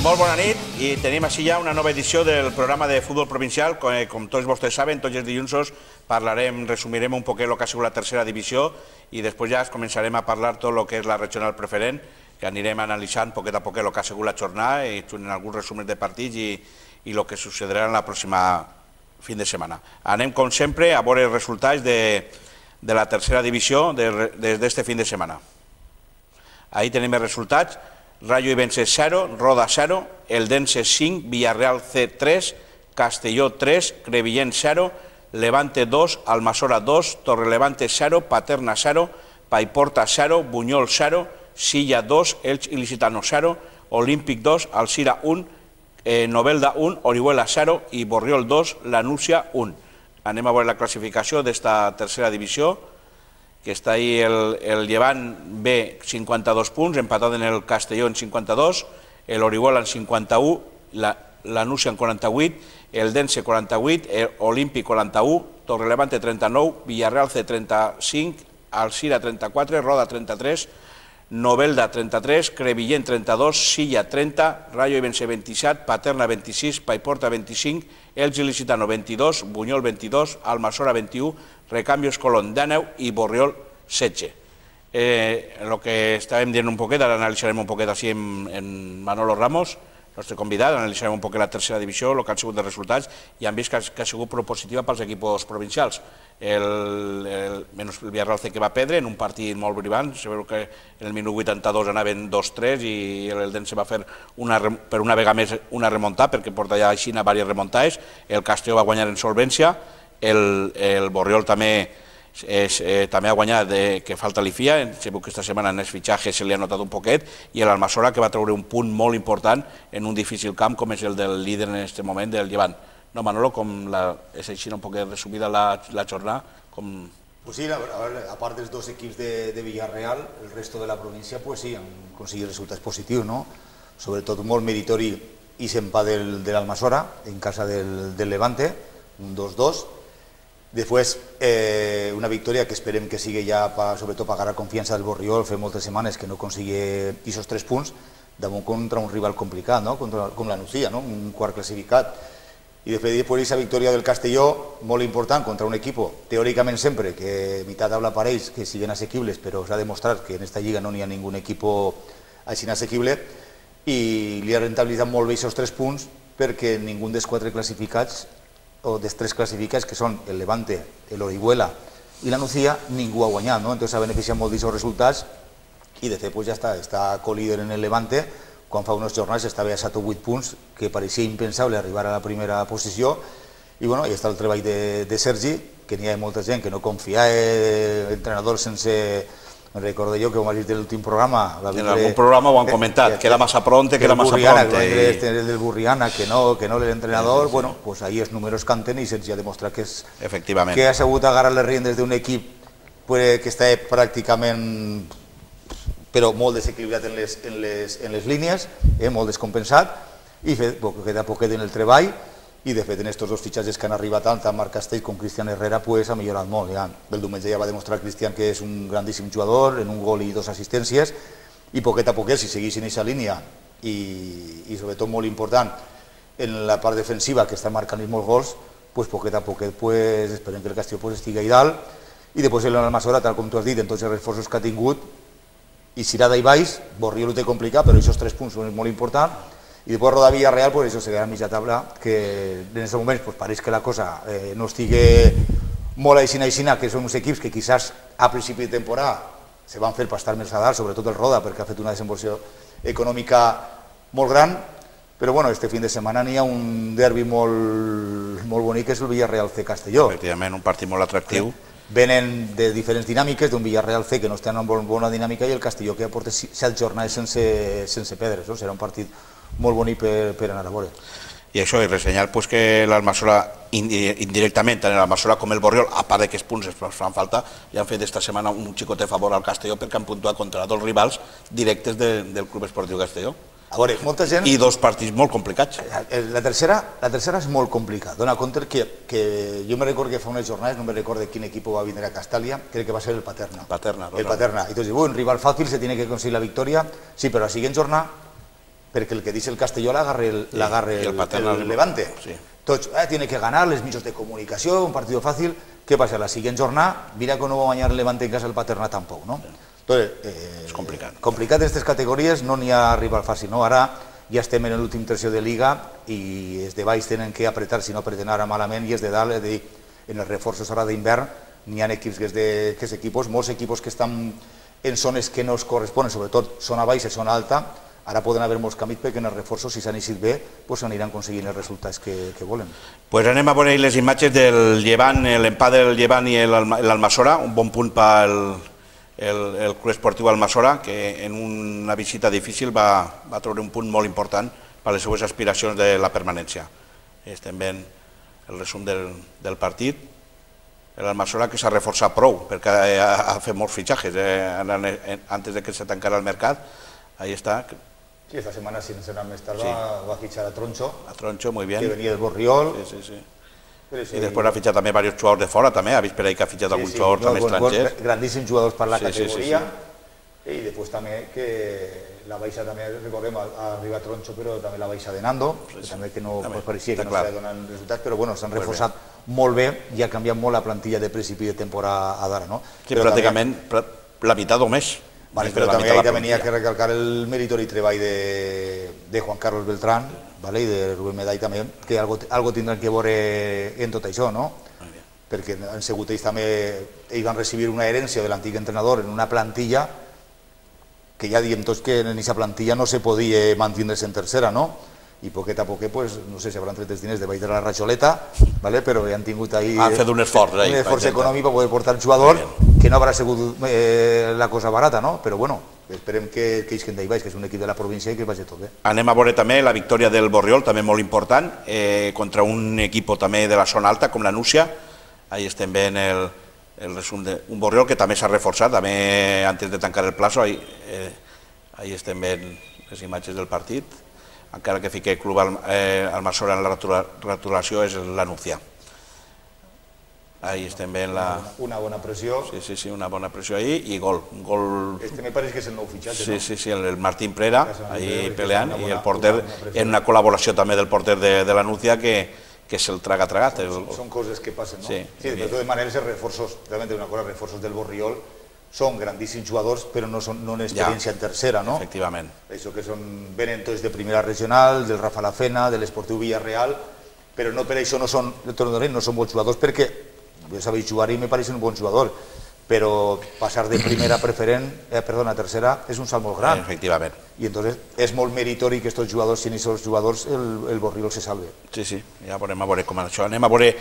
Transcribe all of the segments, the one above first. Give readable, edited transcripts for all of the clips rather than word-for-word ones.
Molt bona nit i tenim així ja una nova edició del programa de futbol provincial. Com tots vostès saben, tots els dilluns resumirem un poquet el que ha sigut la tercera divisió i després ja començarem a parlar tot el que és la regional preferent, que anirem analitzant poquet a poquet el que ha sigut la jornada i en alguns resumers de partits i el que sucederà en la pròxima fin de setmana. Anem, com sempre, a veure els resultats de la tercera divisió des d'este fin de setmana. Ahí tenim els resultats. Rayo Ibense 0, Roda 0, Eldense 5, Villarreal C 3, Castelló 3, Crevillent 0, Levante 2, Almasora 2, Torrelevante 0, Paterna 0, Paiporta 0, Buñol 0, Silla 2, Elx Ilicitano 0, Olímpic 2, Alcira 1, Novelda 1, Orihuela 0 i Borriol 2, Lanúcia 1. Anem a veure la classificació d'esta tercera divisió, que està ahí el Llevant B 52 punts, empatat en el Castelló en 52, l'Orihuela en 51, Lanúcia en 48, el Dense 48, Olímpic 41, Torrelevante 39, Villarreal C 35, Alcira 34, Roda 33, Novelda 33, Crevillent 32, Silla 30, Rayo Ibense 27, Paterna 26, Paiporta 25, Elx Ilicitano 22, Buñol 22, Almasora 21, Recambios Colón 19 i Borriol 16. El que estàvem dient un poquet, ara analitzarem un poquet així en Manolo Ramos, nostre convidat, analitzarem un poquet la tercera divisió, el que han sigut els resultats, i han vist que ha sigut propositiva pels equips provincials. Menys el Villarreal C que va perdre en un partit molt brillant, se veu que en el minut 82 anaven 2-3 i l'Eldense va fer per una vegada més una remuntada, perquè porta ja així diverses remuntades, el Castelló va guanyar en solvència, el Borriol també ha guanyat, que falta l'IFIA, se veu que aquesta setmana en els fitxatges se li ha notat un poquet, i l'Almasora que va treure un punt molt important en un difícil camp com és el del líder en aquest moment, del Llevant. No, Manolo, com és així un poquet resumida la jornada? Pues sí, a part dels dos equips de Villarreal, el resto de la província pues sí, han aconseguit resultats positius, no? Sobretot molt meritori i s'empat de l'Almasora en casa del Levante, un 2-2. Després, una victòria que esperem que sigui ja, sobretot, pagar la confiança del Borriol, fer moltes setmanes que no aconsigui aquests 3 punts, damunt contra un rival complicat, com la Nucía, un quart classificat. I després aquesta victòria del Castelló, molt important, contra un equip, teòricament sempre, que meitat taula parells, que siguin assequibles, però s'ha demostrat que en aquesta lliga no n'hi ha ningú equip així assequible, i li ha rentabilitzat molt bé aquests 3 punts, perquè ningú dels 4 classificats o dels 3 classificats, que són el Levante, l'Orihuela i la Nucía, ningú ha guanyat, entonces ha beneficiat molt d'aquests resultats i de fet ja està co-líder en el Levante, quan fa unes jornades estava a 7 o 8 punts, que pareixia impensable arribar a la primera posició, i hi està el treball de Sergi, que n'hi ha molta gent que no confia en entrenadors sense... Recordo jo que ho vas dir en l'últim programa... En algun programa ho han comentat, que era massa pronte, que era massa pronte. El del Burriana, que no l'entrenador, bueno, pues ahí els números canten i se'ns ha demostrat que ha sabut agarrar les riendes d'un equip que està pràcticament, però molt desequilibrat en les línies, molt descompensat, i fet poquet a poquet en el treball, i de fet en aquests 2 fitxatges que han arribat tant Marc Castell com Cristian Herrera ha millorat molt. El diumenge ja va demostrar Cristian que és un grandíssim jugador, en un gol i 2 assistències, i poquet a poquet, si segueixin aquesta línia, i sobretot molt important en la part defensiva, que està marcant molts gols, poquet a poquet esperem que el Castelló estigui ahí dalt, i després l'Almasora, tal com tu has dit, en tots els reforços que ha tingut, i Cirada i Baix, Borriol ho té complicat, però aquests 3 punts són molt importants, i després Roda Villarreal, això se queda a mitja taula, que en aquests moments pareix que la cosa no estigui molt aixina, que són uns equips que quizás a principi de temporada se van fer per estar més a dalt, sobretot el Roda, perquè ha fet una desenvolució econòmica molt gran, però este fin de setmana n'hi ha un derbi molt bonic, que és el Villarreal C Castelló. Efectivament, un partit molt atractiu. Venen de diferents dinàmiques, d'un Villarreal C que no està en una bona dinàmica i el Castelló que ja porta 7 jornades sense perdre, serà un partit molt bonic per anar a veure. I això, i ressenyar que l'Almasora, indirectament, tant l'Almasora com el Borriol, a part d'aquests punts que fan falta, ja han fet esta setmana un xicot de favor al Castelló perquè han puntuat contra 2 rivals directes del Club Esportiu Castelló. A veure, molta gent... I dos partits molt complicats. La tercera és molt complicada. Dona compte que jo me recordo que fa unes jornades, no me recordo quin equip va vindre a Castàlia, crec que va ser el Paterna. El Paterna. I tu dius, un rival fàcil, se tiene que conseguir la victòria. Sí, però la siguiente jornada, perquè el que dice el Castelló l'agarre el Levante. Tots, tiene que ganar, les mitjos de comunicació, un partit fàcil. Què passa? La siguiente jornada, mira que no va guanyar el Levante en casa el Paterna tampoc, no? És complicat. Complicat en aquestes categories, no n'hi ha rival fàcil, no? Ara ja estem en l'últim terció de Liga i els de baix tenen que apretar, si no apreten ara malament, i els de dalt, és a dir, en els reforços ara d'hivern, n'hi ha equips que és equipos, molts equipos que estan en zones que no es corresponen, sobretot zona baixa i zona alta, ara poden haver molts canvis perquè en els reforços, si s'han eixit bé, aniran aconseguint els resultats que volen. Pues anem a veure les imatges del Llevant, l'empat del Llevant i l'Almassora, un bon punt pel el Club Esportiu Almassora, que en una visita difícil va treure un punt molt important per les seues aspiracions de la permanència. Estem veient el resum del partit. L'Almassora que s'ha reforçat prou, perquè ha fet molts fitxatges antes de que se tancara el mercat. Ahí està. Sí, esta semana, sin ser más tarde, va a fichar a Troncho. A Troncho, muy bien. Que venía del Borriol. Sí, sí, sí. I després ha fitxat també diversos jugadors de fora, també, ha vist per ahí que ha fitxat alguns jugadors també estrangers. Grandíssims jugadors per la categoria. I després també que la baixa també, recordem, ha arribat Troncho, però també la baixa de Nando, també que no pareixia que no s'ha donat resultats, però bueno, s'han reforçat molt bé i ha canviat molt la plantilla de principi de temporada d'ara, no? Sí, pràcticament la meitat o més. Però també hi ha que recalcar el meritori treball de Juan Carlos Beltrán i de Rubén Medall també, que algo tindran que veure en tot això, no? Perquè han sigut ells també, ells van recibir una herència de l'antic entrenador en una plantilla que ja diem tots que en aquesta plantilla no se podia mantindre's en tercera, no? I poquet a poquet, no sé si hauran tret els diners de baix de la ratxoleta, però han tingut ahí han fet un esforç econòmic per poder portar el jugador, que no haurà sigut la cosa barata, no? Però bueno, esperem que isquen d'ahí baix, que és un equip de la província i que vagi tot bé. Anem a veure també la victòria del Borriol, també molt important, contra un equip també de la zona alta, com la Núcia. Ahí estem veient el resum d'un Borriol que també s'ha reforçat, també antes de tancar el plazo, ahí estem veient les imatges del partit, encara que fiqui el club Almassora en la rotulació és la Núcia. Ahí estem veient una bona pressió. Sí, una bona pressió ahí i gol. Este me pareix que és el nou fitxatge, no? Sí, el Martín Prera, ahí peleant, i el porter, en una col·laboració també del porter de la Núcia que se'l tragat. Són coses que passen, no? Sí, de totes maneres els reforços, realment una cosa, els reforços del Borriol són grandíssims jugadors, però no en experiència en tercera, no? Efectivament. Això que venen tots de primera regional, del Rafa Lafena, de l'Esportiu Villarreal, però no per això no són bons jugadors, perquè ja sabeu jugar i me pareixen un bon jugador, però passar de primera a tercera és un salt molt gran. Efectivament. I entonces és molt meritori que aquests jugadors, si n'hi jugadors, el Borriol se salve. Sí, ja veurem a veure com això. Anem a veure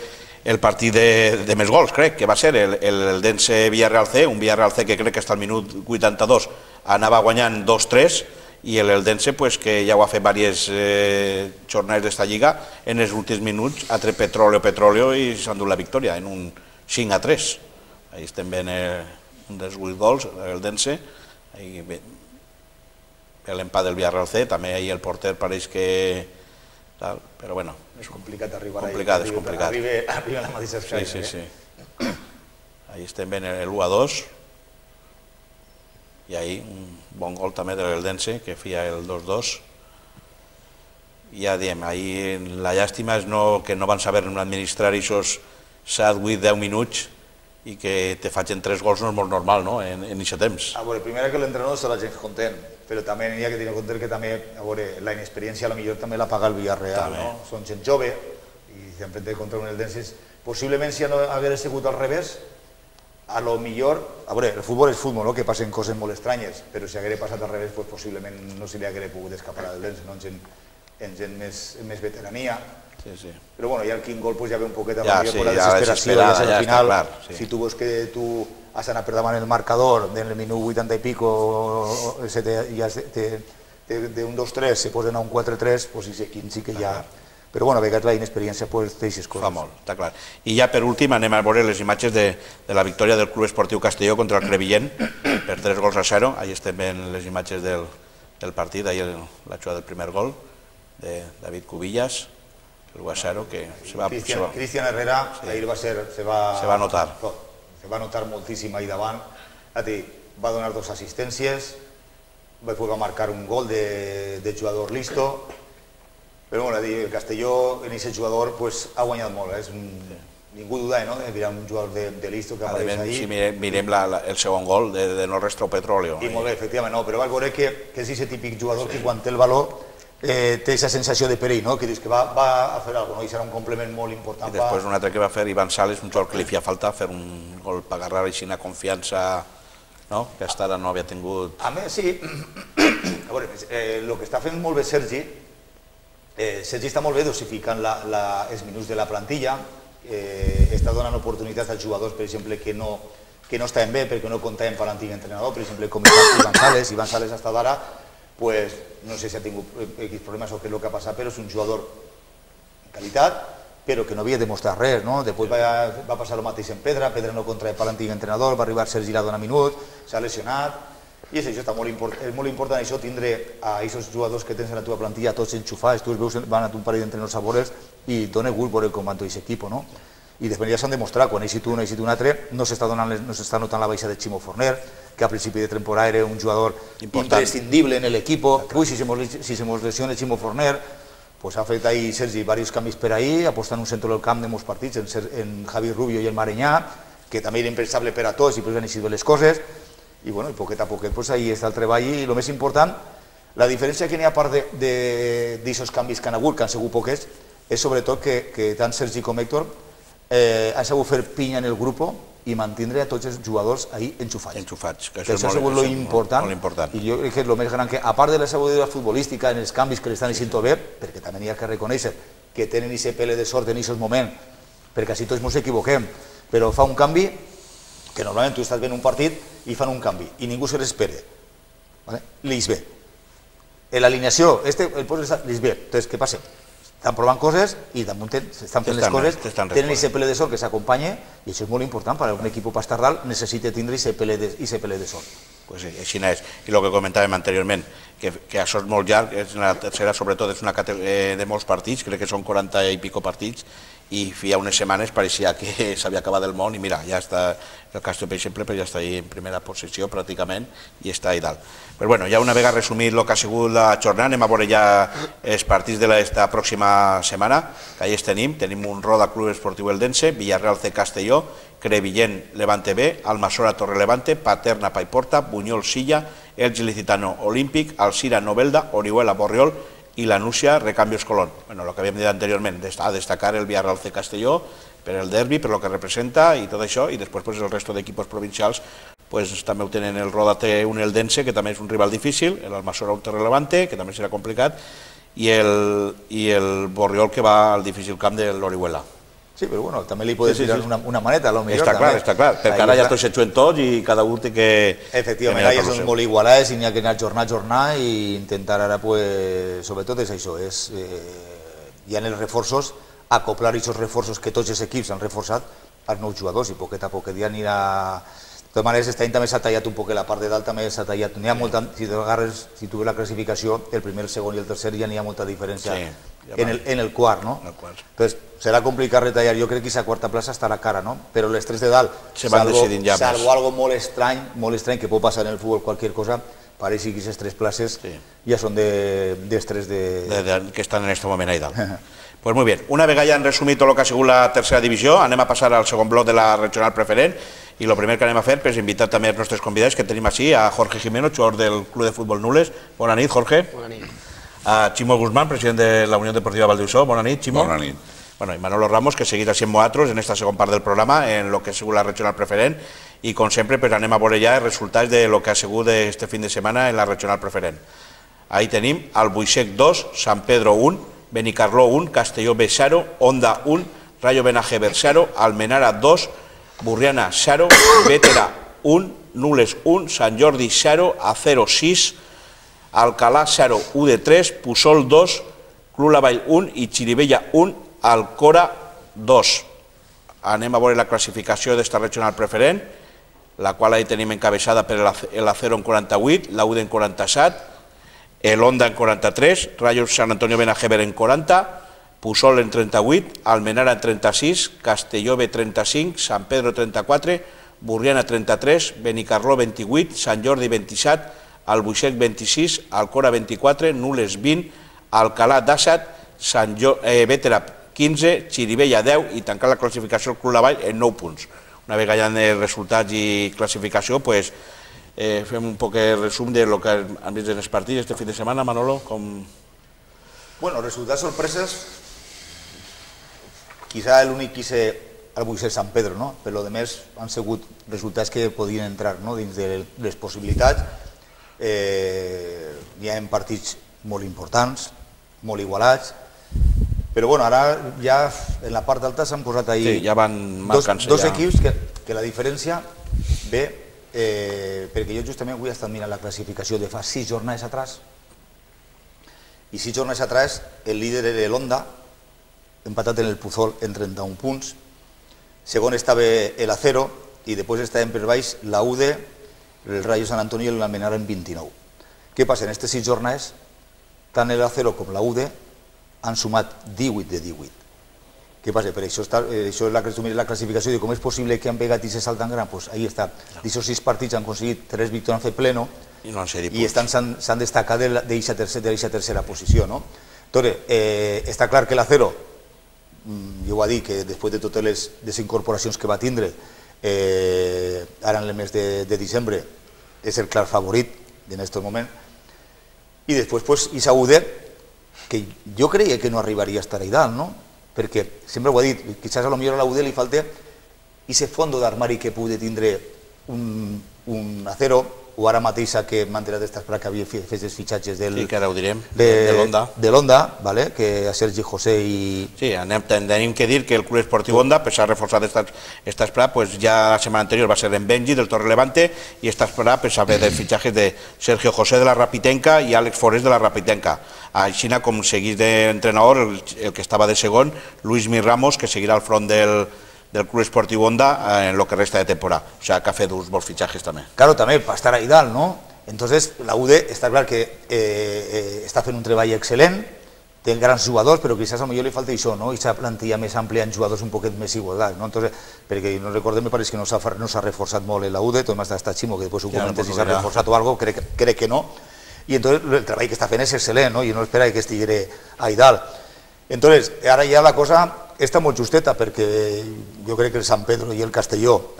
el partit de més gols, crec, que va ser el Dense Villarreal C, un Villarreal C que crec que hasta el minut 82 anava guanyant 2-3, i el Dense, que ja ho ha fet diverses jornades d'esta lliga, en els últims minuts ha tret petróleo i s'ha endut la victòria en un 5-3. Ahí estem veient un dels 8 gols, el Dense, l'empat del Villarreal C, també ahí el porter pareix que... Però bueno, és complicat arribar allà. És complicat. Arriba a la mateixa escala. Sí. Ahí estem veient l'1-2 i ahí un bon gol també del Dense que feia el 2-2. I ja diem, ahí la llàstima és que no van saber administrar aquests 7, 8, 10 minuts i que te facin 3 gols no és molt normal, no?, en aquest temps. A veure, primer que l'entrenador està la gent content, però també hi ha que tenir en compte que també, a veure, la inexperiència potser també la paga el Villarreal, no? Són gent jove i s'enfrenten contra un Eldense. Possiblement si no hagués sigut al revés, a lo millor, a veure, el futbol és futbol, no?, que passen coses molt estranyes, però si hagués passat al revés, possiblement no se li hagués pogut escapar a l'Eldense, no?, en gent més veterania. Però bueno, ja el quin gol ja ve un poquet amb la desesperació, ja és al final, si tu veus que tu has anat per davant el marcador, en el minut 80 i pico, d'un 2-3 se posen a un 4-3, doncs sí que ja... Però bueno, a vegades la inexperiència deixes coses. Fa molt, està clar. I ja per últim anem a veure les imatges de la victòria del Club Esportiu Castelló contra el Crevillent per 3-0. Ahí estem veient les imatges del del partit, ahir la jugada del primer gol de David Cubillas, el Guasaro, que Cristian Herrera, ahir se va notar moltíssim ahir davant, va donar 2 assistències, va poder marcar un gol de jugador listo, però bueno, el Castelló en aquest jugador ha guanyat molt, ningú duda de mirar un jugador de listo que apareix ahí. Si mirem el segon gol de No Restro Petróleo. I molt bé, efectivament, però val veure que és aquest típic jugador que quan té el valor té aquesta sensació de perill, que dius que va a fer alguna cosa, i serà un complement molt important. I després un altre que va fer Ivan Sales, un jugador que li feia falta fer un gol per agarrar així una confiança que hasta ara no havia tingut. A més, sí, a veure, el que està fent molt bé Sergi està molt bé dosificant els minuts de la plantilla, està donant oportunitats als jugadors, per exemple, que no estaven bé perquè no comptaven per l'antic entrenador, per exemple, com Ivan Sales. Ivan Sales hasta d'ara, no sé si ha tingut problemes o què és el que ha passat, però és un jugador de qualitat, però que no havia demostrat res, no? Després va passar el mateix en Pedra no contrae per l'antic entrenador, va arribar Sergi a donar minuts, s'ha lesionat, i això està molt important, això tindre a aquests jugadors que tens en la teva plantilla tots enxufats, tu els veus, van a un parell d'entrenadors a veure'ls i dona gust veure com van tot aquest equip, no? I després ja s'han demostrat, quan eixit un altre, no s'està notant la baixa de Ximo Forner, que a principi de temporada era un jugador imprescindible en l'equip. Ui, si se mos lesiona Ximo Forner, ha fet ahir Sergi diversos canvis per ahir, apostant un centre del camp de molts partits, en Javi Rubio i el Marenyà, que també era impensable per a tots i després han eixit bé les coses, i poquet a poquet ahir està el treball. I el més important, la diferència que n'hi ha a part d'aquests canvis que han hagut, que han sigut poquets, és sobretot que tant Sergi com Héctor han sabut fer pinya en el grup i mantindre a tots els jugadors ahí enxufats. Que això ha sigut lo important, i jo crec que és el més gran, que a part de la sabidoria futbolística en els canvis que l'estan eixint bé, perquè també n'hi ha que reconèixer que tenen aquest pele de sort en aquest moment, perquè així tots ens equivoquem, però fa un canvi que normalment tu estàs veient un partit i fan un canvi i ningú se l'espera, l'eix bé. L'alineació, el posa l'eix bé, entonces què passa? Estan provant coses i damunt estan fent les coses, tenen aquest pele de sort que s'acompanya, i això és molt important, per a un equip per estar dalt necessita tindre aquest pele de sort. Pues sí, així és. I el que comentàvem anteriorment, que això és molt llarg, la tercera sobretot és una categoria de molts partits, crec que són 40 i pico partits, i fa unes setmanes pareixia que s'havia acabat el món i mira, ja està el Castelló, per exemple, ja està ahí en primera posició pràcticament i està ahí dalt. Però bueno, ja una vegada resumit el que ha sigut la jornada, anem a veure ja els partits d'esta pròxima setmana, que ahí tenim un Roda Club Esportiu Eldense, Villarreal C Castelló, Crevillent Levante B, Almassora Torre Levante, Paterna Paiporta, Buñol Silla, Elx Licitano Olímpic, Alcira Novelda, Orihuela Borriol i la Núcia Recambios Colón. Bueno, el que havíem dit anteriorment, a destacar el Villarreal C Castelló per el derbi, per el que representa i tot això, i després el resto d'equipos provincials també ho tenen el Roda té un Eldense, que també és un rival difícil, l'Almassora un Torre Levante, que també serà complicat, i el Borriol, que va al difícil camp de l'Orihuela. Sí, però bueno, també li podes tirar una maneta, a lo millor. Està clar, perquè ara ja tots se juguen tots i cada un té que... Efectivament, ara ja són molt igualats i n'hi ha que anar jornada a jornada i intentar ara, sobretot és això, hi ha els reforços, acoplar aquests reforços que tots els equips han reforçat als nous jugadors i poquet a poquet ja anirà... De totes maneres, aquest any també s'ha tallat un poc, la part de dalt també s'ha tallat. N'hi ha molta, si tu veus la classificació, el primer, el segon i el tercer ja n'hi ha molta diferència en el quart, no? Entonces, serà complicat retallar. Jo crec que aquesta quarta plaça estarà cara, no? Però les tres de dalt, salvo algo molt estrany que pot passar en el futbol, qualsevol cosa, pareix que aquestes tres places ja són dels tres que estan en aquest moment ahí dalt. Pues muy bien, una vegada ja han resumit tot el que ha sigut la tercera divisió, anem a passar al segon bloc de la regional preferent i el primer que anem a fer és invitar també els nostres convidats que tenim així, a Jorge Jimeno, jugador del Club de Futbol Nules. Bona nit, Jorge. Bona nit. A Ximo Guzmán, president de la Unió Deportiva Valdiusó. Bona nit, Ximo. Bona nit. Bueno, y Manolo Ramos, que seguirà sent nosaltres en esta segona part del programa, en lo que ha sigut la regional preferent, i com sempre pues, anem a veure ja els resultats de lo que ha sigut este fin de setmana en la regional preferent. Ahí tenim Albuixec 2, San Pedro 1, Benicarló 1, Castelló B 0, Onda 1, Rayo Benajever 0, Almenara 2, Burriana 0, Bétera 1, Nules 1, Sant Jordi 0, Acero 6, Alcalá 0, UD3, Pusol 2, Club Lavall 1 i Xirivella 1, Alcora 2. Anem a veure la classificació d'esta regional preferent, la qual ahí tenim encabeçada per l'Acero en 48, la UD en 47, el Honda en 43, Rayo Sant Antonio Benajever en 40, Pusol en 38, Almenara en 36, Castelló B 35, Sant Pedro 34, Burriana 33, Benicarló 28, Sant Jordi 27, Albuixec 26, Alcora 24, Nules 20, Alcalà 17, Bétera 15, Xirivella 10 i tancar la classificació del Club La Vall en 9 punts. Una vegada hi ha resultats i classificació, pues, fem un poc de resum de lo que han vist en els partits este fin de setmana, Manolo. Bueno, resultats sorpreses, quizá l'únic que hice Albuixec Sant Pedro, no? Per lo demés han sigut resultats que podien entrar, no?, dins de les possibilitats. Hi ha partits molt importants, molt igualats, però bueno, ara ja en la part alta s'han posat ahí sí, ja van marcant-se dos equips que la diferència ve perquè jo justament avui he estat mirant la classificació de fa 6 jornades atrás i 6 jornades atrás el líder era l'Honda, empatat en el Puzol en 31 punts, segon estava el Acero i després estaven per baix la UD, el Rayo Sant Antonio i l'Almenara en 29. Què passa? En aquestes 6 jornades tant el Acero com la UD han sumat 18 de 18. Què passa? Per això és la classificació de com és possible que han pegat i se saltan gran, doncs ahí està. D'aquests 6 partits han aconseguit 3 victòries en pleno i s'han destacat d'aquesta tercera posició. Entonces, està clar que l'Acero, jo ho he dit que després de totes les desincorporacions que va tindre ara en el mes de desembre és el clar favorit en aquest moment, i després Isaúde, que jo creia que no arribaria a estar ahí dalt, no? Perquè sempre ho he dit, quizás a lo millor a la UD li falta ese fondo d'armari que pugui tindre un Acero, o ara mateixa que m'ha enterat d'estar que havia fet els fitxatges de l'Honda, que a Sergi José i... Sí, tenim que dir que el Club Esportiu Honda, per s'ha reforçat esta esperada, pues ja la setmana anterior va ser en Benji, del Torre Levante, i esta esperada pues haver dels fitxatges de Sergio José de la Rapitenca i Àlex Forés de la Rapitenca. Així com seguís d'entrenador, el que estava de segon, Luis Mir Ramos, que seguirà al front del Club Esportiu Honda en lo que resta de temporada. O sea, que ha fet uns bons fitxatges també. Claro, també, per estar ahí dalt, ¿no? Entonces, la UD està clar que està fent un treball excel·lent, té grans jugadors, però quizás a lo millor li falta això, no? Aquesta plantilla més àmplia en jugadors un poquet més igualtat, no? Entonces, perquè no recordem, me pareix que no s'ha reforçat molt la UD, tot m'ha estat Ximo, que després ho comentes si s'ha reforçat o algo, crec que no, i entonces el treball que està fent és excel·lent, no? I no espera que estigui ahí dalt. Entonces, ara ja la cosa està molt justeta, perquè jo crec que el Sant Pedro i el Castelló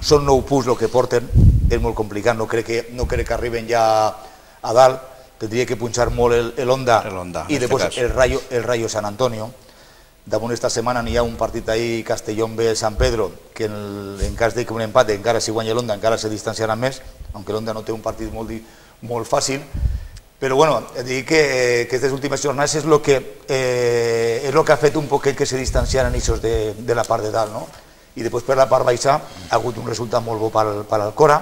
són 9 punts el que porten, és molt complicat, no crec que arriben ja a dalt, tindria que punxar molt l'Honda i després el Rayo Sant Antonio. Damunt esta setmana n'hi ha un partit ahí, Castellón B, Sant Pedro, que en cas de que un empat, encara si guanya l'Honda, encara se distanciarà més, aunque l'Honda no té un partit molt fàcil. Però bueno, dic que aquestes últimes jornades és el que ha fet un poquet que se distanciaran ells de la part de dalt, no? I després per la part baixa ha hagut un resultat molt bo per l'Alcora.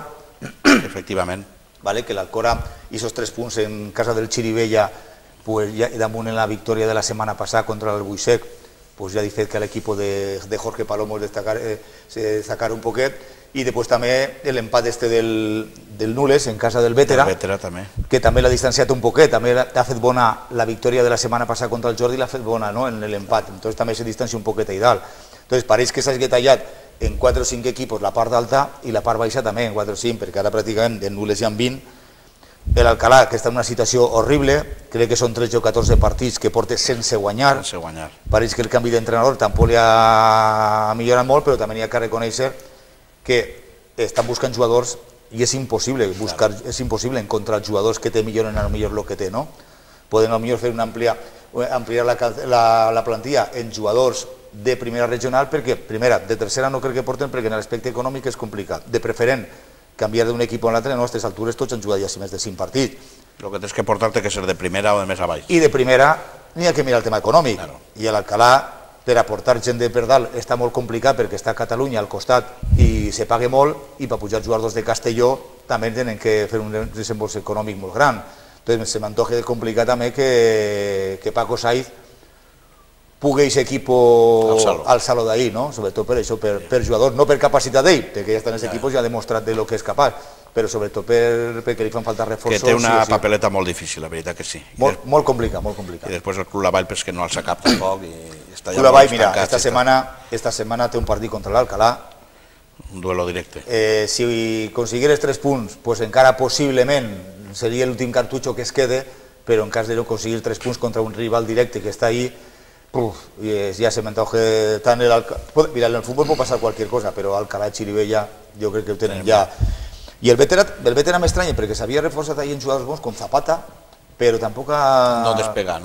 Efectivament. Que l'Alcora, aquests 3 punts en casa del Xirivella, damunt en la victòria de la setmana passada contra l'Albuixec, ja ha fet que l'equip de Jorge Palomo se destacara un poquet. I després també l'empat del Nules en casa del Bétera, que també l'ha distanciat un poquet, també ha fet bona la victòria de la setmana passada contra el Jordi, l'ha fet bona en l'empat, entonces també se distancia un poquet ahí dalt. Entonces pareix que s'hagi tallat en 4 o 5 equipos la part d'alta i la part baixa també en 4 o 5, perquè ara pràcticament de Nules hi ha 20. L'Alcalà, que està en una situació horrible, crec que són 13 o 14 partits que porta sense guanyar. Pareix que el canvi d'entrenador tampoc li ha millorat molt, però també hi ha que reconèixer que estan buscant jugadors i és impossible encontrar jugadors que te milloren a lo millor el que té, no? Poden a lo millor fer ampliar la plantilla en jugadors de primera regional, perquè primera, de tercera no crec que porten, perquè en l'aspecte econòmic és complicat. De preferent canviar d'un equip a l'altre, a aquestes altures tots han jugat ja més de 5 partits. El que tens que portar té que ser de primera o de més avall. I de primera n'hi ha que mirar el tema econòmic, i a l'Alcalà per aportar gent de per dalt està molt complicat perquè està a Catalunya al costat i se paga molt, i per pujar jugadors de Castelló també tenen que fer un desembolso econòmic molt gran. Entonces se m'antoja complicat també que Paco Saiz pugui aquest equip alçar-lo d'ahir, no? Sobretot per això, per jugadors, no per capacitat d'ell, perquè ja està en aquest equip i ja ha demostrat de lo que és capaç, però sobretot perquè li fan falta reforços. Que té una papeleta molt difícil, la veritat que sí. Molt complicat, molt complicat. I després el Club Lavall, però és que no alça cap tampoc. Club Lavall, mira, esta setmana té un partit contra l'Alcalà. Un duelo directe. Si aconseguires 3 punts, pues encara possiblement seria l'últim cartutxo que es quede, però en cas de no aconseguir 3 punts contra un rival directe que està ahí, ja se m'antoja tant l'Alcalà. Mira, en el futbol pot passar qualsevol cosa, però Alcalà i Xirivella jo crec que ho tenen ja. I el veterà m'estranya perquè s'havia reforçat ahir en jugadors bons com Zapata, però tampoc no despega.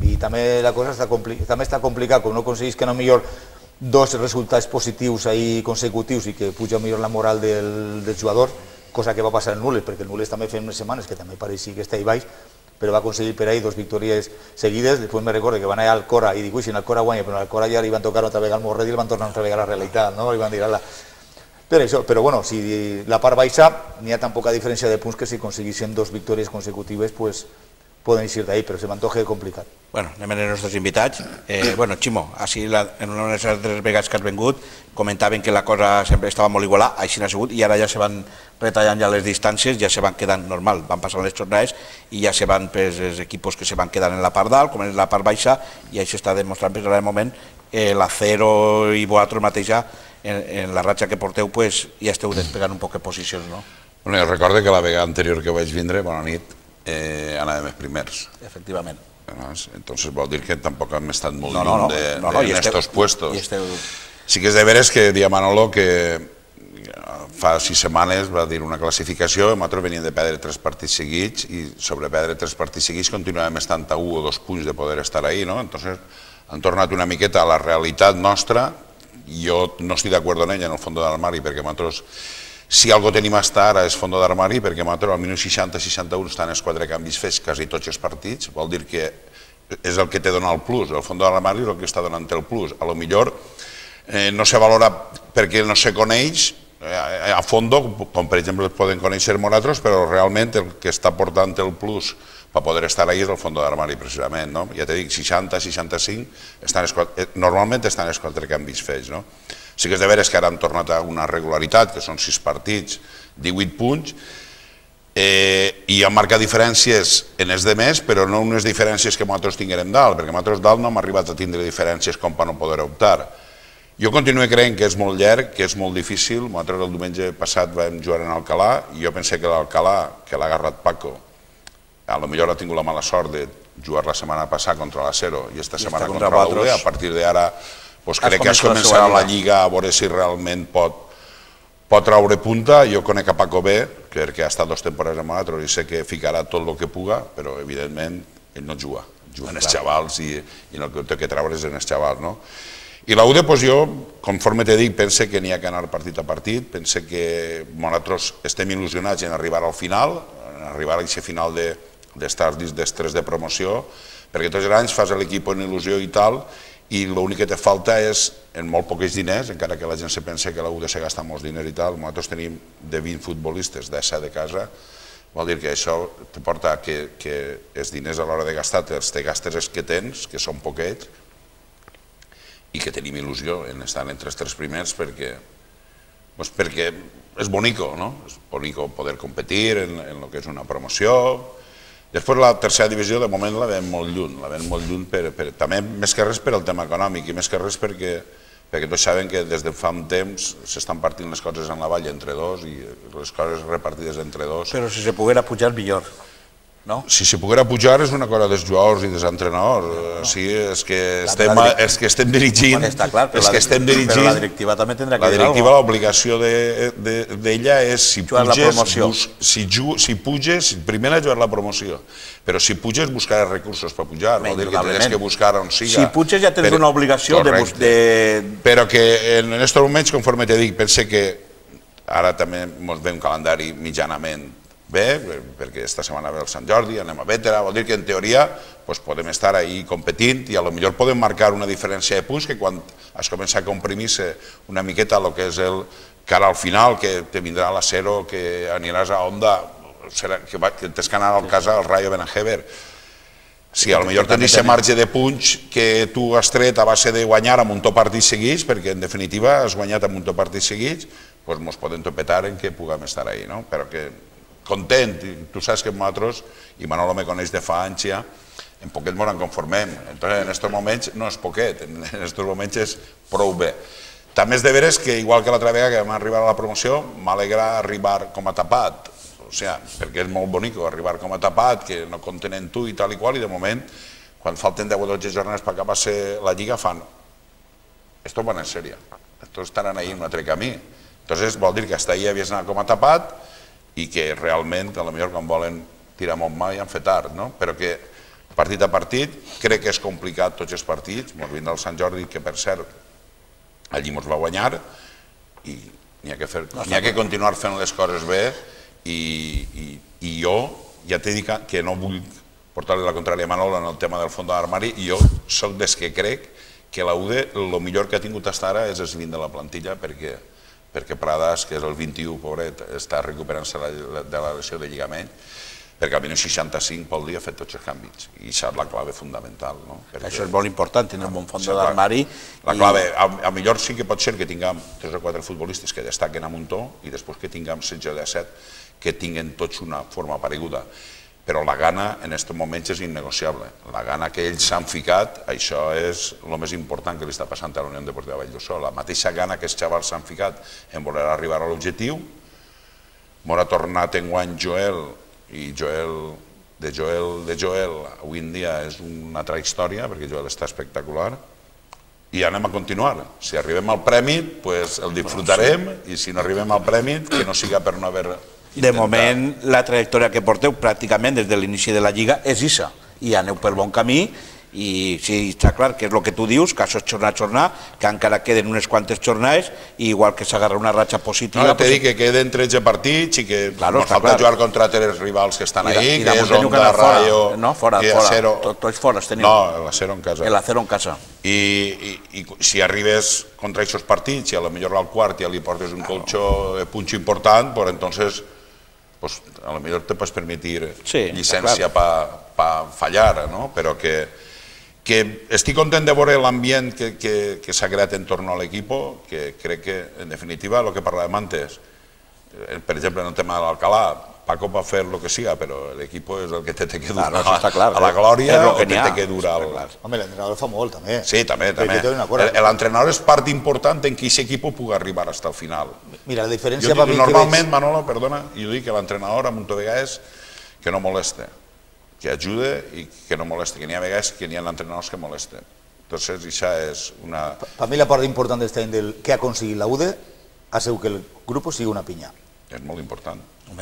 I també la cosa està complicada, com no aconseguís que no millor 2 resultats positius ahir consecutius i que puja millor la moral del jugador, cosa que va passar en Nules, perquè el Nules també feia unes setmanes que també pareixia que està ahí baix, però va aconseguir per ahí 2 victòries seguides. Després me recordo que van anar al Cora i dic, si en el Cora guanya, però en el Cora ja li van tocar otra vegada al Morret i li van tornar otra vegada a la realitat, no? Li van dir, ala. Però bueno, si la part baixa n'hi ha tan poca diferència de punts que si aconseguissin 2 victòries consecutives, pues poden eixir d'ahí, però se m'antoja complicat. Bueno, anem als nostres invitats. Bueno, Ximo, en una de les altres vegades que has vengut comentaven que la cosa sempre estava molt igualada, així n'ha sigut, i ara ja se van retallant ja les distàncies, ja se van quedant normal, van passant les jornades i ja se van els equips que se van quedant en la part dalt, com en la part baixa, i això està demostrant ara de moment l'Acero i vosaltres mateix ja en la ratxa que porteu ja esteu despegant un poc de posicions, no? Bueno, jo recordo que la vegada anterior que vaig vindre, bona nit, anàvem els primers. Efectivament. Entonces vol dir que tampoc hem estat molt lluny d'estos puestos. Sí que és de veres que dia Manolo que fa 6 setmanes va dir una classificació, nosaltres veníem de perdre 3 partits seguits i sobre perdre 3 partits seguits continuàvem estant a 1 o 2 punts de poder estar ahí, no? Entonces han tornat una miqueta a la realitat nostra. Jo no estic d'acord amb ella en el fons d'armari perquè nosaltres, si algo tenim hasta ara és fons d'armari perquè nosaltres al minut 60-61 estan els 4 canvis fets quasi tots els partits, vol dir que és el que té donat el plus, el fons d'armari és el que està donant el plus. A lo millor no se valora perquè no se coneix a fondo, com per exemple poden conèixer nosaltres, però realment el que està portant el plus per poder estar ahí és el fons d'armari precisament, no? Ja te dic, 60-65 normalment estan els 4 canvis fets, no? Sí que és de veres que ara han tornat a una regularitat, que són 6 partits, 18 punts, i han marcat diferències en els demés, però no unes diferències que nosaltres tinguérem dalt, perquè nosaltres dalt no hem arribat a tindre diferències com per no poder optar. Jo continuo creient que és molt llarg, que és molt difícil. Nosaltres el diumenge passat vam jugar en Alcalà i jo pensé que l'Alcalà, que l'ha agarrat Paco, a lo millor ha tingut la mala sort de jugar la setmana passada contra l'Acero i esta setmana contra la UD. A partir d'ara crec que has començat la Lliga a veure si realment pot traure punta. Jo conec a Paco bé, perquè ha estat 2 temporades amb nosaltres i sé que ficarà tot el que puga, però evidentment ell no juga, juguen els xavals i el que té que treure és en els xavals, no? I la UD, jo, conforme te dic, pense que n'hi ha que anar partit a partit, pense que nosaltres estem il·lusionats en arribar al final, en arribar a aquest final d'estar dins dels 3 de promoció, perquè tots els anys fas l'equip en il·lusió i tal, i l'únic que te falta és, en molt pocs diners, encara que la gent se pensa que la UD se gasta molts diners i tal, nosaltres tenim de 20 futbolistes d'essa de casa, vol dir que això te porta que els diners a l'hora de gastar te gastes els que tens, que són poquets, i que tenim il·lusió en estar entre els 3 primers perquè és bonico, no? És bonico poder competir en el que és una promoció. Després la tercera divisió de moment la veiem molt lluny, també més que res per el tema econòmic i més que res perquè tots saben que des de fa un temps s'estan partint les coses en la vall entre 2 i les coses repartides entre 2. Però si se poguera pujar millor. Si se poguera pujar és una cosa dels jugadors i dels entrenadors, és que estem dirigint, però la directiva també tindrà que dir alguna cosa. La directiva, l'obligació d'ella és si puges, primer jugar la promoció, però si puges buscar recursos per pujar, vol dir que tens que buscar on siga. Si puges ja tens una obligació de... Però que en aquests moments, conforme te dic, pense que ara també ens ve un calendari mitjanament bé, perquè esta setmana ve el Sant Jordi, anem a Bétera, vol dir que en teoria podem estar ahí competint i potser podem marcar una diferència de punts que quan has començat a comprimir-se una miqueta el que és el cara al final, que te vindrà l'Acero, que aniràs a Onda, que tens que anar al casa del Rayo Benajever. Sí, potser tens aquest marge de punx que tu has tret a base de guanyar amb un tot partits seguits, perquè en definitiva has guanyat amb un tot partits seguits, doncs ens podem topetar en què puguem estar ahí, no? Però que content, tu saps que nosaltres, i Manolo me coneix de fa anys ja, en poquet ens en conformem. Entonces, en aquests moments no és poquet, en aquests moments és prou bé. També és de veres que, igual que l'altra vegada que vam arribar a la promoció, m'alegra arribar com a tapat, perquè és molt bonic arribar com a tapat, que no compten en tu i tal i qual, i de moment, quan falten 10 o 12 jornades per acabar la Lliga, fan esto van en sèrie, estos estaran ahí en un altre camí. Entonces vol dir que hasta ahí havies anat com a tapat i que realment, a lo millor quan volen tirar amb mà ja han fet tard, però que partit a partit, crec que és complicat tots els partits, ens vindrà el Sant Jordi, que per cert, allí ens va guanyar, i n'hi ha que continuar fent les coses bé. I jo ja t'he dit que no vull portar-li la contrària a Manolo en el tema del fons de l'armari, i jo soc des que crec que la UDE el millor que ha tingut fins ara és el 20 de la plantilla, perquè Pradas, que és el 21, pobret, està recuperant-se de la lesió de lligament, perquè al minut 65 pel dia ha fet tots els canvis, i això és la clave fundamental. Això és molt important, tenir un bon fons de l'armari. La clave, a millor sí que pot ser que tinguem 3 o 4 futbolistes que destaquen a Muntó i després que tinguem 16 o 17 que tinguen tots una forma pareguda, però la gana en aquests moments és innegociable. La gana que ells s'han ficat, això és el més important que li està passant a la Unió Deportiva Valldosó. La mateixa gana que els xavals s'han ficat en voler arribar a l'objectiu. M'ha tornat enguany Joel, i de Joel avui en dia és una altra història, perquè Joel està espectacular, i anem a continuar. Si arribem al premi, el disfrutarem, i si no arribem al premi, que no siga per no haver... De moment, la trajectòria que porteu pràcticament des de l'inici de la Lliga és això, i aneu per bon camí, i sí, està clar que és el que tu dius, que això és jornada a jornada, que encara queden unes quantes jornades, i igual que s'agarra una ratxa positiva... No, t'he dit que queden 13 partits i que ens falta jugar contra els rivals que estan ahí, que és Onda, Rayo... No, fora, tots fora teniu. No, l'Acero en casa. L'Acero en casa. I si arribes contra aquests partits i a lo millor al quart ja li portes un colxó de punxo important, pues entonces... a lo mejor te puedes permitir llicència per fallar, però que estic content de veure l'ambient que s'ha creat en torno a l'equip, que crec que, en definitiva, el que parlàvem antes, per exemple, en el tema de l'Alcalá, Paco va fer el que siga, però l'equip és el que té que durar a la glòria, o que té que durar... Home, l'entrenador fa molt, també. Sí, també. L'entrenador és part important en què aquest equip pugui arribar fins al final. Mira, la diferència va dir que normalment, Manolo, perdona, jo dic que l'entrenador a Montevegà és que no moleste, que ajude i que no moleste, que n'hi ha vegades que n'hi ha entrenadors que molesten. Entonces, això és una... Per mi la part important d'aquest any del que ha aconseguit la UDE ha sigut que el grup sigui una pinya. És molt important.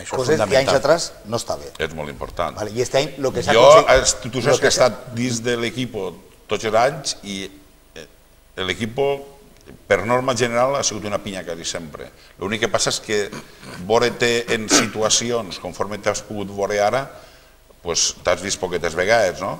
Coses que anys atrás no està bé. És molt important. I aquest any el que s'ha aconseguit... Tu saps que he estat dins de l'equip tots els anys i l'equip, per norma general, ha sigut una pinya quasi sempre. L'únic que passa és que veure-te en situacions, conforme t'has pogut veure ara, t'has vist poquetes vegades, no?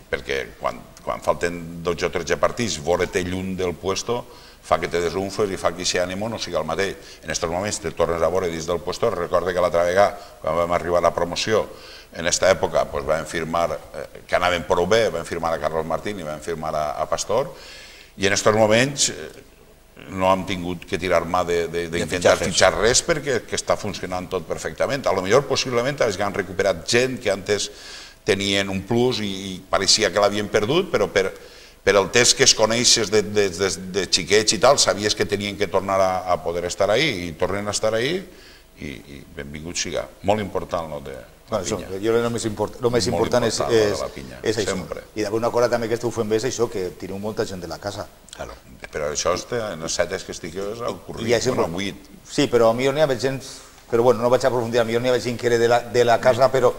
Perquè quan falten 12 o 13 partits, veure-te lluny del puesto fa que te desunfes i fa que aquest ànimo no sigui el mateix. En aquests moments te tornes a veure dins del puesto. Recorda que l'altra vegada, quan vam arribar a la promoció, en aquesta època vam firmar, que anàvem prou bé, vam firmar a Carlos Martín i vam firmar a Pastor, i en aquests moments no hem tingut que tirar mà d'intentar fitxar res perquè està funcionant tot perfectament. A lo millor, possiblement, han recuperat gent que antes tenien un plus i pareixia que l'havien perdut, però per el test que es coneixes de xiquets i tal, sabies que tenien que tornar a poder estar ahí i tornen a estar ahí i benvingut siga. Molt important el de la pinya. Jo el més important és això. I d'alguna cosa també que esteu fent bé és això, que tireu molta gent de la casa. Però això en les setes que estigués al currículum, bueno, 8. Sí, però a mi n'hi ha gent... Però bueno, no vaig a aprofundir, potser n'hi ha gent que era de la casa, però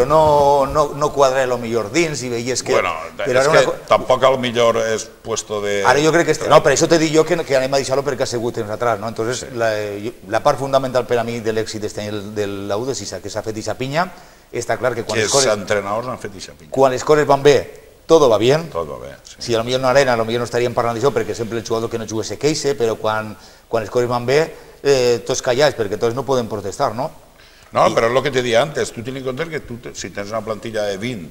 no quadra el millor dins i veies que... Bueno, és que tampoc el millor és puesto de... Ara jo crec que... No, per això t'he dit jo que anem a deixar-lo perquè ha sigut temps atrás, no? Entonces, la part fundamental per a mi de l'èxit de la UDE, si que s'ha fet ixa pinya, està clar que quan les coses... Que els entrenadors han fet ixa pinya. Quan les coses van bé, todo va bien. Todo va bé, sí. Si potser en una arena, potser no estaríem parlant d'això perquè sempre el jugador que no juga se queixa, però quan les coses van bé, tots callats, perquè tots no poden protestar, no? No, però és el que t'he dit antes, tu tens en compte que si tens una plantilla de 20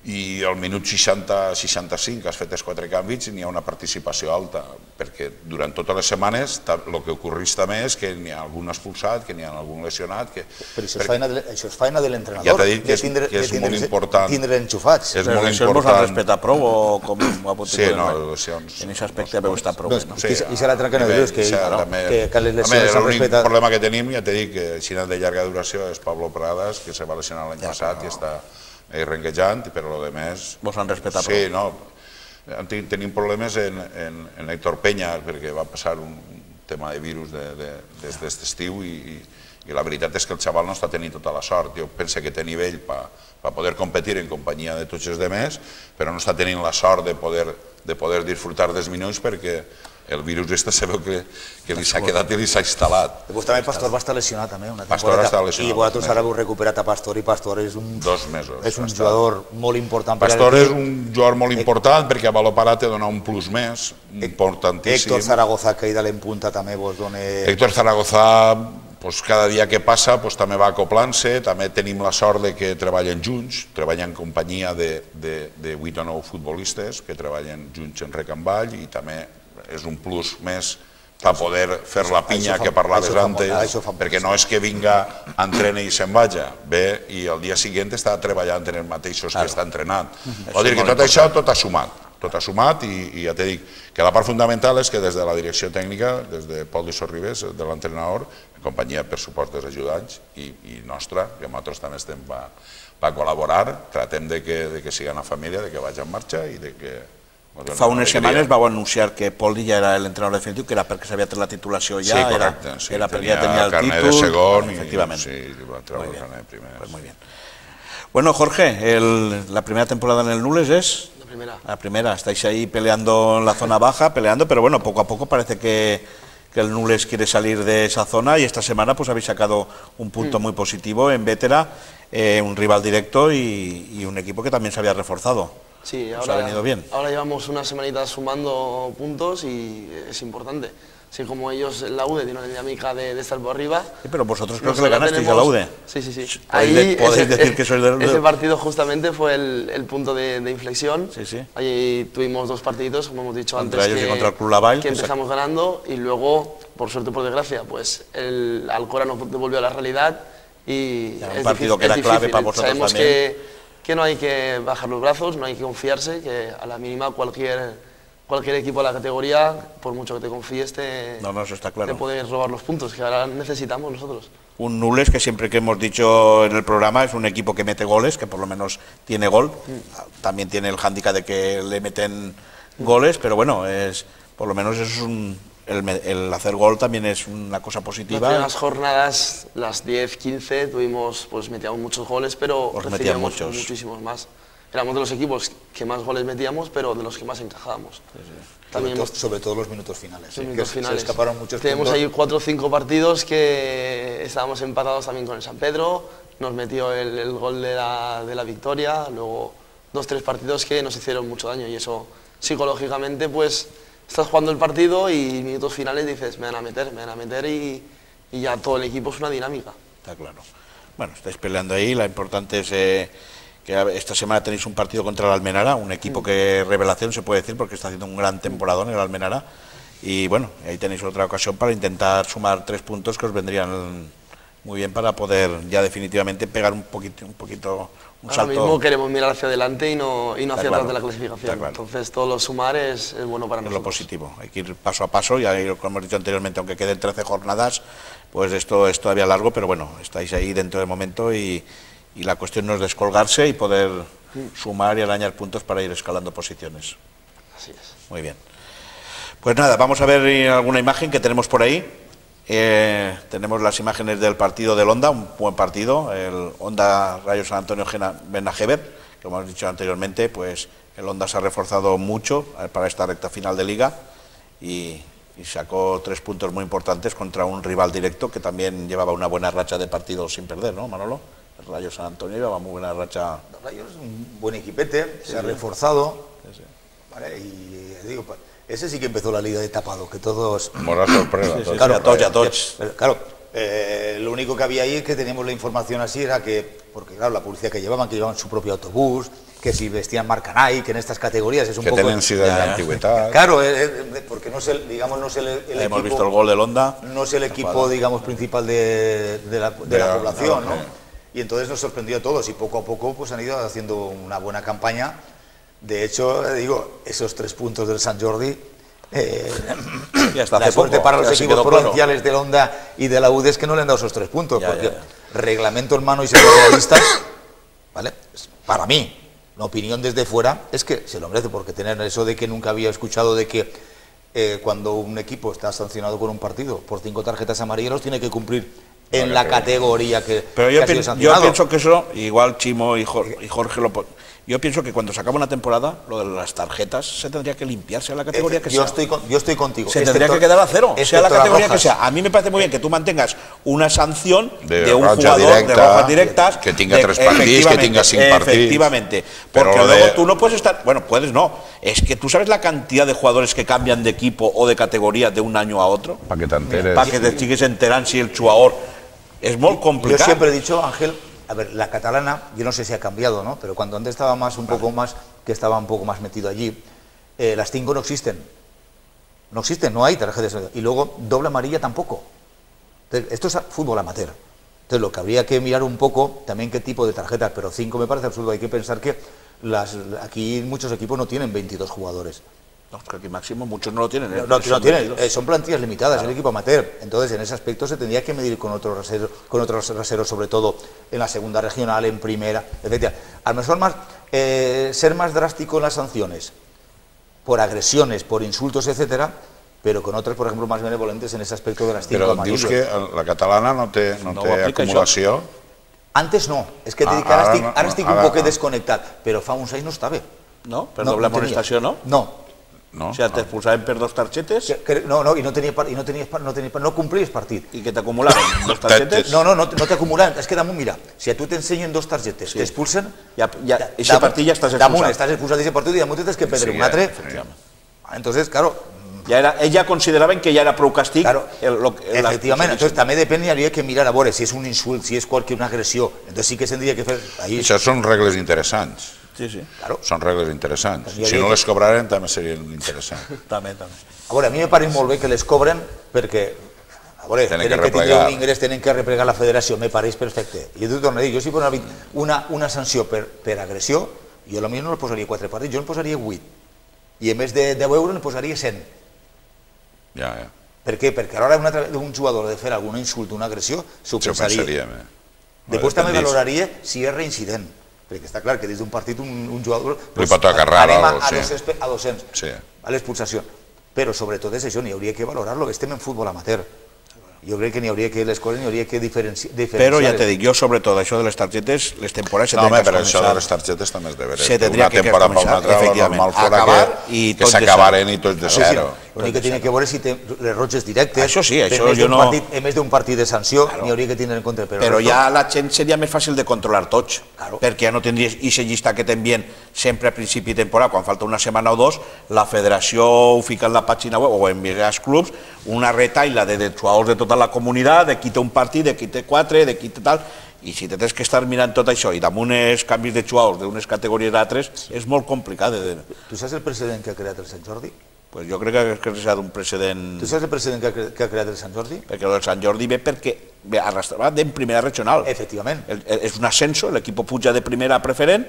i al minut 60-65 has fet els 4 canvis i n'hi ha una participació alta, perquè durant totes les setmanes el que ocorreix també és que n'hi ha algun expulsat, que n'hi ha algun lesionat... Però això és feina de l'entrenador. Ja t'he dit que és molt important. Tindre enxufats. Les lesions vos han respetat prou o com ho ha pogut dir? Sí, no, les lesions... En aquest aspecte heu estat prou bé, no? I serà l'altre que no dius, que les lesions s'han respetat... L'únic problema que tenim, ja t'he dit, que si de llarga duració és Pablo Pradas, que se va lesionar l'any passat i està renquejant, però el més... Vos han respetat prou? Sí, no. Tenim problemes en Héctor Peña, perquè va passar un tema de virus d'aquest estiu i la veritat és que el xaval no està tenint tota la sort. Jo penso que té nivell per poder competir en companyia de tots els demés, però no està tenint la sort de poder disfrutar dels minuts perquè el virus este se veu que li s'ha quedat i li s'ha instal·lat. Després també Pastor va estar lesionat també una Pastor temporada. està lesionat. I vosaltres ara heu recuperat a Pastor i Pastor és un... 2 mesos. És un jugador molt important. Pastor és un jugador molt important perquè a Valopara te dona un plus més, importantíssim. Héctor Zaragoza, que ahir de l'empunta també vos dona... Héctor Zaragoza, cada dia que passa també va acoplant-se, també tenim la sort de que treballen junts, treballen en companyia de 8 o 9 futbolistes que treballen junts en Recamball i també és un plus més per poder fer la pinya que parlaves antes, perquè no és que vinga, entrena i se'n vagi, ve i el dia següent està treballant en els mateixos que està entrenant. Vol dir que tot això tot ha sumat i ja t'he dit que la part fundamental és que des de la direcció tècnica, des de Pol de Sorribes, de l'entrenador, en companyia per suport dels ajudants i nostra, que nosaltres també estem per col·laborar, tratem de que sigui una família, de que vagi en marxa i de que... Fa unes setmanes vau anunciar que Pol ja era l'entrenador definitiu, que era perquè s'havia tret la titulació ja, sí, correcte, era perquè ja tenia el títol. Carnet de segon efectivament. Sí, va treure el carnet de primer. Pues muy bien. Bueno, Jorge, la primera temporada en el Nules es... La primera. Estáis ahí peleando en la zona baja, pero bueno, poco a poco parece que el Nules quiere salir de esa zona y esta semana pues habéis sacado un punto muy positivo en Vétera, un rival directo y un equipo que también se había reforzado. Sí, ¿Os ha venido bien? Ahora llevamos unas semanitas sumando puntos y es importante. Así como ellos, la UDE, tienen la dinámica de estar por arriba. Sí, pero vosotros creo que le ganasteis a la UDE. Sí, sí, sí. Podéis decir que sois del... Ese partido justamente fue el punto de inflexión. Sí, sí. Ahí tuvimos 2 partiditos, como hemos dicho contra antes, ellos y contra el Club Lavalle, que empezamos ganando y luego, por suerte o por desgracia, pues el Alcora nos devolvió a la realidad y un partido que era clave para vosotros Sabemos también. Que no hay que bajar los brazos, no hay que confiarse, que a la mínima cualquier equipo de la categoría, por mucho que te confíes, eso está claro. te puedes robar los puntos, que ahora necesitamos nosotros. Un Nules que siempre que hemos dicho en el programa es un equipo que mete goles, que por lo menos tiene gol, también tiene el hándicap de que le meten goles, pero bueno, por lo menos es el hacer gol también es una cosa positiva. Las primeras jornadas, las 10, 15, metíamos muchos goles, pero recibíamos muchísimos más. Éramos de los equipos que más goles metíamos, pero de los que más encajábamos. Sí. Sobre todo los minutos finales. Se escaparon muchos Tenemos puntos. ahí 4 o 5 partidos que estábamos empatados también con el San Pedro, nos metió el gol de la victoria, luego 2 o 3 partidos que nos hicieron mucho daño y eso psicológicamente pues... Estás jugando el partido y minutos finales dices, me van a meter y ya todo el equipo es una dinámica. Está claro. Bueno, estáis peleando ahí, lo importante es que esta semana tenéis un partido contra el Almenara, un equipo que revelación se puede decir porque está haciendo un gran temporadón el Almenara y bueno, ahí tenéis otra ocasión para intentar sumar 3 puntos que os vendrían muy bien para poder ya definitivamente pegar un poquito un salto. Ahora mismo queremos mirar hacia adelante y no hacia atrás de la clasificación. Claro. Entonces todo lo sumar es bueno para nosotros. Es lo positivo, hay que ir paso a paso, ya como hemos dicho anteriormente, aunque queden 13 jornadas, pues esto es todavía largo, pero bueno, estáis ahí dentro del momento y la cuestión no es descolgarse y poder sumar y arañar puntos para ir escalando posiciones. Así es. Muy bien. Pues nada, vamos a ver alguna imagen que tenemos por ahí. Tenemos las imágenes del partido del Honda, un buen partido, el Honda Rayo San Antonio Benajever, como hemos dicho anteriormente, pues el Honda se ha reforzado mucho para esta recta final de liga y sacó 3 puntos muy importantes contra un rival directo que también llevaba una buena racha de partidos sin perder, ¿no, Manolo? El Rayo San Antonio llevaba muy buena racha. El Rayo es un buen equipete, se ha reforzado, ¿vale? Y digo, ese sí que empezó la liga de tapado, que todos... Mora sorpresa. Claro, lo único que había ahí es que teníamos la información así, era que porque claro, la publicidad que llevaban su propio autobús, que si vestían marca Nike, en estas categorías es un que poco... Que tenen sigles d'antiguitat. Claro, porque no es el equipo... Hemos visto el gol del Honda. No es el equipo, digamos, principal de la población, ¿no? Y entonces nos sorprendió a todos y poco a poco pues han ido haciendo una buena campaña. De hecho, digo, esos 3 puntos del Sant Jordi, la suerte para los equipos provinciales del Honda y de la UD es que no le han dado esos 3 puntos, porque reglamento en mano y siendo realistas, ¿vale? Para mí, la opinión desde fuera es que se lo merece, porque tener eso de que nunca había escuchado de que cuando un equipo está sancionado con un partido por 5 tarjetas amarillas tiene que cumplir en la categoría que ha sido sancionado. Yo pienso que eso, igual Chimo y Jorge yo pienso que cuando se acaba una temporada, lo de las tarjetas se tendría que limpiarse a la categoría que sea. Yo estoy contigo. Se tendría que quedar a cero, sea la categoría que sea. A mí me parece muy bien que tú mantengas una sanción de un jugador de rojas directas. Que tenga 3 partits, que tenga 5 partits. Efectivamente. Porque luego tú no puedes estar... Bueno, puedes no. Es que tú sabes la cantidad de jugadores que cambian de equipo o de categoría de un año a otro. Para que t'enteres. Para que te sigues enterando si el jugador... Es muy complicado. Yo siempre he dicho, Ángel, a ver, la catalana, yo no sé si ha cambiado, ¿no? Pero cuando antes estaba un poco más metido allí, las 5 no existen. No existen, no hay tarjetas. Y luego, doble amarilla tampoco. Entonces, esto es fútbol amateur. Entonces, lo que habría que mirar un poco, también qué tipo de tarjetas, pero 5 me parece absurdo. Hay que pensar que aquí muchos equipos no tienen 22 jugadores. No, es que aquí máximo muchos no lo tienen. No tienen, son plantillas limitadas, claro. El equipo amateur. Entonces, en ese aspecto se tendría que medir con otros raseros, sobre todo en la segunda regional, en primera, etc. A lo mejor ser más drástico en las sanciones, por agresiones, por insultos, etcétera, pero con otras, por ejemplo, más benevolentes en ese aspecto de las 5 amarillas. Però dius que la catalana no té acumulació? Antes no, és que ara estic un poquet desconnectat, però fa uns anys no estava. No? Per doble amonestació no? No. O sigui, t'expulsaven per 2 targetes? No, i no complies partit. I que t'acumulaven 2 targetes? No t'acumulaven. És que damunt, mira, si a tu t'ensenyen 2 targetes, t'expulsen... Aquest partit ja estás expulsat. Damunt estàs expulsat d'aquest partit i damunt tens que perdre un altre. Entonces, claro... Ells ja consideraven que ja era prou càstig. Efectivament, entonces també depèn i hauria que mirar a veure si és un insult, si és una agressió. Entonces sí que s'hauria que fer... Això són regles interessants. Sí. Claro. Són regles interessants. Si no les cobraren també serien interessants. També. A veure, a mi me pareix molt bé que les cobren perquè, a veure, tenen que tindre un ingrés, tenen que replegar la federació, me pareix perfecte. I jo t'ho torno a dir, jo si posa una sanció per agressió, jo potser no el posaria 4 partits, jo el posaria 8. I en més de 10 euros el posaria 100. Ja. Per què? Perquè a l'hora d'un jugador de fer algun insult, una agressió, s'ho pensaria. Després també valoraria si és reincident. Perquè està clar que des d'un partit un jugador... Li pot tocar raro. Anem a 200, a l'expulsació. Però sobretot és això, n'hi hauria que valorar-lo, estem en futbol amateur. Jo crec que n'hi hauria que les coses n'hi hauria que diferenciar. Però ja te dic, jo sobretot això de les targetes, les temporades se tenen que començar. No, però això de les targetes també és de veure. Se tendria que començar, efectivament, acabar que s'acabaren i tots de zero. L'únic que tiene que veure si té les roges directes. Això sí, això jo no... En més d'un partit de sanció, n'hi hauria que tindre en compte. Però ja la gent seria més fàcil de controlar tots, perquè ja no tindries aquesta llista que t'envien sempre a principi de temporada, quan falta una setmana o 2, la federació ho fica en la pàgina web o envia als clubs una retaila de jugadors de tota la comunitat, de qui té un partit, de qui té 4, de qui té tal... I si tens que estar mirant tot això i damunt els canvis de jugadors d'unes categories a altres, és molt complicat. Tu saps el precedent que ha creat el Sant Jordi? Pues jo crec que és un precedent... Tu saps el precedent que ha creat el Sant Jordi? Perquè el Sant Jordi ve perquè arrastrava en primera regional. Efectivament. És un ascenso, l'equip puja de primera a preferent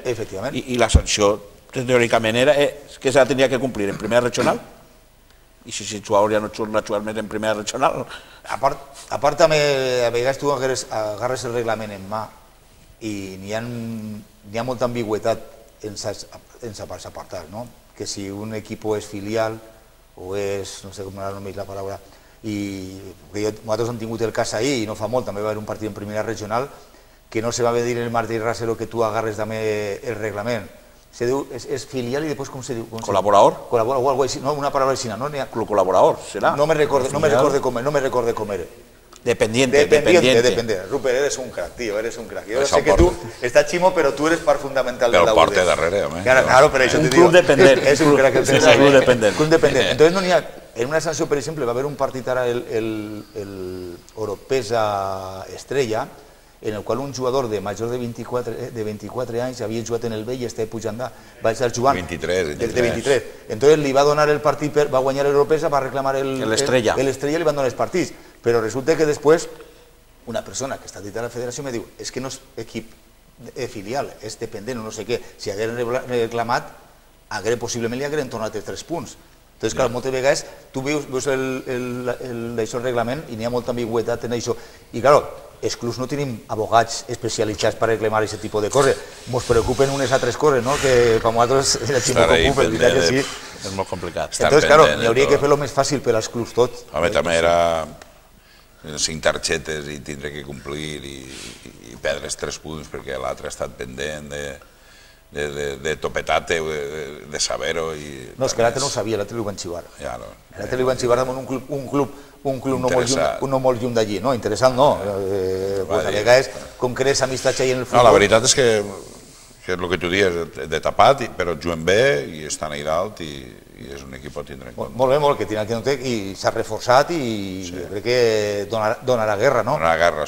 i la sanció teòricament era que se la tenia que complir en primera regional. I si el jugador ja no surt a jugar més en primera regional... A part també, a vegades tu agarres el reglament en mà i n'hi ha molta ambigüetat en els apartats, no? Que si un equip és filial o és, no sé com era només la paraula, i nosaltres hem tingut el cas ahir i no fa molt, també va haver un partit en primera regional que no se va dir en el Martí Rasero que tu agarres també el reglament. Se diu, és filial i després com se diu? Col·laborador? Col·laborador, o algo així, no, una paraula així, no? Col·laborador, serà? No me recorde com era. Dependiente. Rupert, eres un crack, tío, eres un crack. Yo sé que tú estás chimo, pero tú eres parte fundamental de la UD. Pero porte darrere, home. Claro, pero eso te digo. Un club dependent. Es un crack. Club dependent. Entonces no n'hi ha... En una sanció, per exemple, va haver un partit ara el Oropesa Estrella en el qual un jugador de major de 24 anys havia jugat en el B i estava pujant, va estar jugant 23. de 23. Entonces li va donar el partit, va guanyar l'Europesa, va reclamar l'Estrella i li van donar els partits. Però resulta que després una persona que està dit a la federació me diu és que no és equip filial, és dependent o no sé què. Si hagueren reclamat, possiblement li hagueren tornat els 3 punts. Entonces, clar, moltes vegades tu veus el reglament i n'hi ha molta ambigüetat en això. I, clar, els clubs no tenim abogats especialitzats per reclamar aquest tipus de coses. Ens preocupen unes altres coses, no?, que per nosaltres ens preocupen, veritat que sí. És molt complicat. Entonces, clar, n'hi hauria que fer-lo més fàcil per als clubs tot. Home, també era 5 targetes i tindre que complir i perdre els 3 punts perquè l'altre ha estat pendent de topetate, de saber-ho. No, és que l'altre no ho sabia, l'altre li van xivar. L'altre li van xivar amb un club no molt lluny d'allí, no? Interessant no. A vegades, com que eres amistat ahí en el futbol... No, la veritat és que és el que tu dius, de tapat, però juguen bé i estan ahí dalt i és un equip a tindre en compte. Molt bé, molt, que tindrà que i s'ha reforçat i crec que donarà guerra, no? Donarà guerra.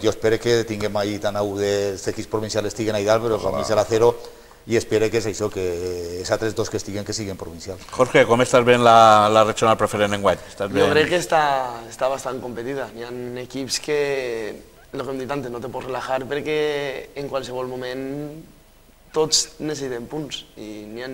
Jo espero que tinguem allí tant a dels equips provincials estiguen ahí dalt, però per mi serà 0 i espero que és això, que els altres 2 que siguin provincials. Jorge, com estàs veient la regional preferent enguany? Jo crec que està bastant competida. Hi ha equips que, el que hem dit antes, no te pots relajar perquè en qualsevol moment tots necessiten punts i n'hi ha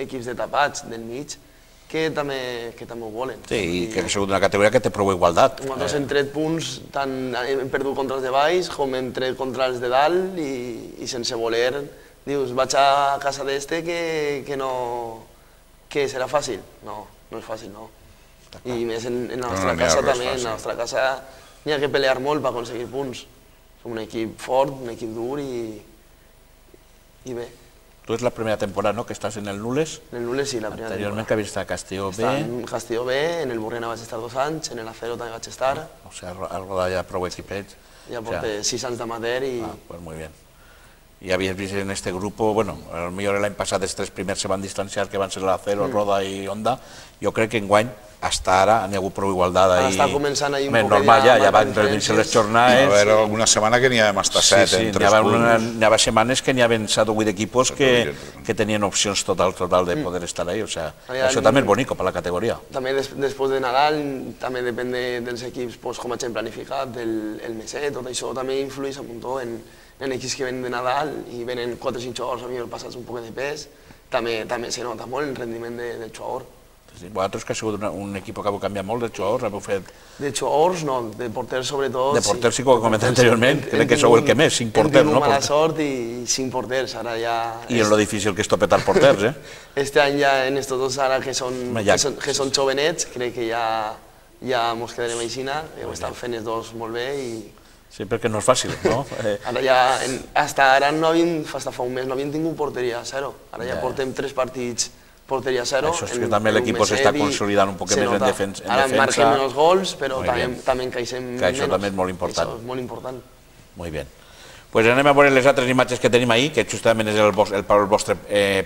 equips de tapats del mig que també ho volen. Sí, i que ha sigut una categoria que té prou igualtat. Nosaltres hem tret punts, tant hem perdut contra els de baix com hem tret contra els de dalt i sense voler dius, vaig a casa d'este que serà fàcil. No, no és fàcil, no. I més en la nostra casa també, en la nostra casa n'hi ha que pelear molt per aconseguir punts. Som un equip fort, un equip dur i bé. Tu és la primera temporada, no?, que estàs en el Nules. En el Nules sí, la primera temporada. Anteriorment que havies estat a Castelló B. En Castelló B, en el Burriana vaig estar 2 anys, en el Acero també vaig estar. O sigui, has rodat ja prou equipets. Ja porté 6 anys d'amateur i... Pues muy bien. Y habías visto en este grupo, bueno, a lo mejor el año pasado els 3 primers se van distanciar, que van ser l'Acero, Roda i Honda. Jo crec que enguany, hasta ara, n'hi ha hagut prou igualtat. Ara està començant ahir un poc normal, ja van reduir-se les jornades. Va haver alguna setmana que n'hi havia hasta 7 en 3 punts. N'hi havia setmanes que n'hi havien 7 o 8 equipos que tenien opcions total de poder estar ahí. O sea, això també és bonico per la categoria. També després de Nadal, també depèn dels equips, com hagin planificat, el meset, tot això també influeix un muntó en equips que venen de Nadal i venen 4 o 5 jugadors, a mi passats un poc de pes, també se nota molt el rendiment del jugador. Vosaltres que ha sigut un equip que heu canviat molt de jugadors, heu fet... De jugadors no, de porters sobretot... De porters sí que ho he comentat anteriorment, crec que sou el que més, 5 porters, no? Hem tingut mala sort i 5 porters, ara ja... I és lo difícil que és topetar porters, eh? Este any ja en estos dos ara que són jovenets, crec que ja mos quedarem aixina, ho estan fent els dos molt bé i... Sí, perquè no és fàcil, no? Ara ja, hasta ara fa un mes no havíem tingut porteria a 0, ara ja portem 3 partits porteria a 0. Això és que també l'equip s'està consolidant un poc més en defensa. Ara marquem menys gols, però també encaixem menys. Que això també és molt important. Això és molt important. Molt bé. Pues anem a veure les altres imatges que tenim ahir, que justament és el vostre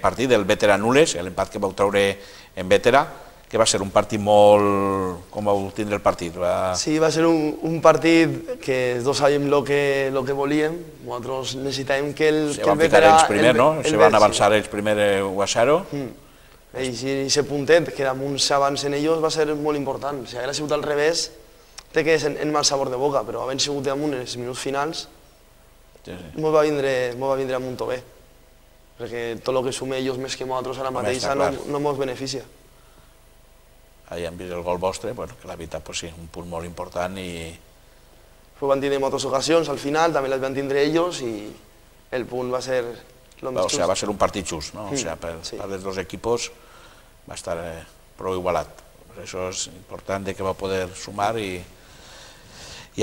partit, el Vétera Nules, l'empat que vau treure en Vétera, que va ser un partit molt... Com vau tindre el partit? Sí, va ser un partit que els dos sabíem el que volíem. Nosaltres necessitàvem que el Vétera... Se van ficar ells primer, no? Se van avançar ells primer 1-0. I aquest puntet, que damunt s'avancen ells, va ser molt important. Si hagués sigut al revés, té que és en mal sabor de boca, però havent sigut damunt en els minuts finals, ens va vindre a muntó bé. Perquè tot el que sumem ells més que nosaltres ara mateixa no ens beneficia. Ahí han vist el gol vostre, que la veritat, sí, un punt molt important i... Van tindre moltes ocasions, al final també les van tindre ells i el punt va ser el més just. Va ser un partit just, no? O sigui, per els dos equipos va estar prou igualat. Per això és important que va poder sumar i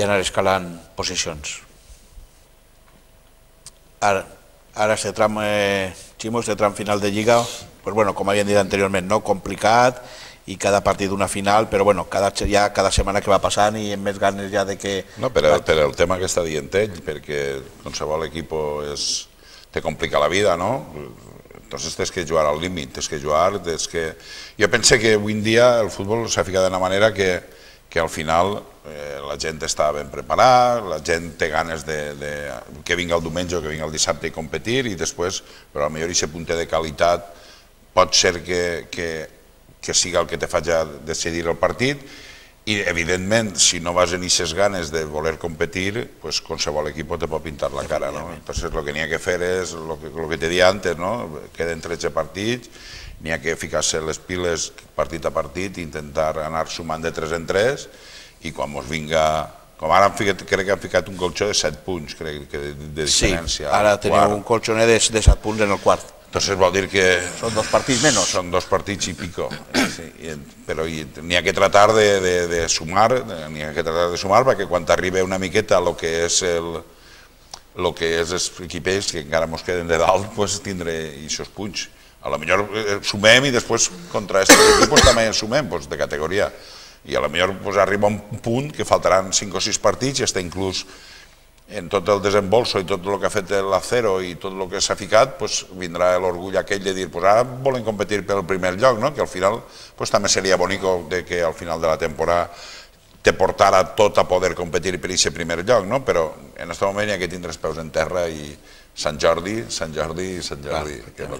anar escalant posicions. Ara, este tram, Ximo, este tram final de Lliga, com havíem dit anteriorment, complicat, i cada partit una final, però cada setmana que va passant i amb més ganes ja de que... No, per el tema que està dient ell, perquè qualsevol equip te complica la vida, no? Entonces tens que jugar al límit, tens que jugar... Jo penso que avui en dia el futbol s'ha ficat d'una manera que que al final la gent està ben preparada, la gent té ganes que vingui el diumenge o que vingui el dissabte i competir, i després, però potser aquest punt de qualitat pot ser que siga el que te faci decidir el partit, i evidentment, si no vas en aquestes ganes de voler competir, pues qualsevol equip te pot pintar la cara, no? Entonces el que n'hi ha que fer és el que te dia antes, no? Queden 13 partits, n'hi ha que ficar-se les piles partit a partit i intentar anar sumant de 3 en 3, i quan mos vinga... Com ara crec que han ficat un colxó de 7 punts, crec que de diferència. Sí, ara teniu un colxoner de 7 punts en el quart. Entonces vol dir que... Són 2 partits menys. Són 2 partits i pico. Però n'hi ha que tratar de sumar, perquè quan t'arriba una miqueta el que és els equipers que encara ens queden de dalt, tindré aquests punts. A lo millor sumem i després contra aquests equips també sumem de categoria. I a lo millor arriba un punt que faltaran 5 o 6 partits i està inclús en tot el desembolso i tot el que ha fet l'Acero i tot el que s'ha ficat, vindrà l'orgull aquell de dir ara volen competir pel primer lloc, que al final també seria bonic que al final de la temporada te portara tot a poder competir per aquest primer lloc, però en aquest moment hi ha que tindre els peus en terra i Sant Jordi, que és el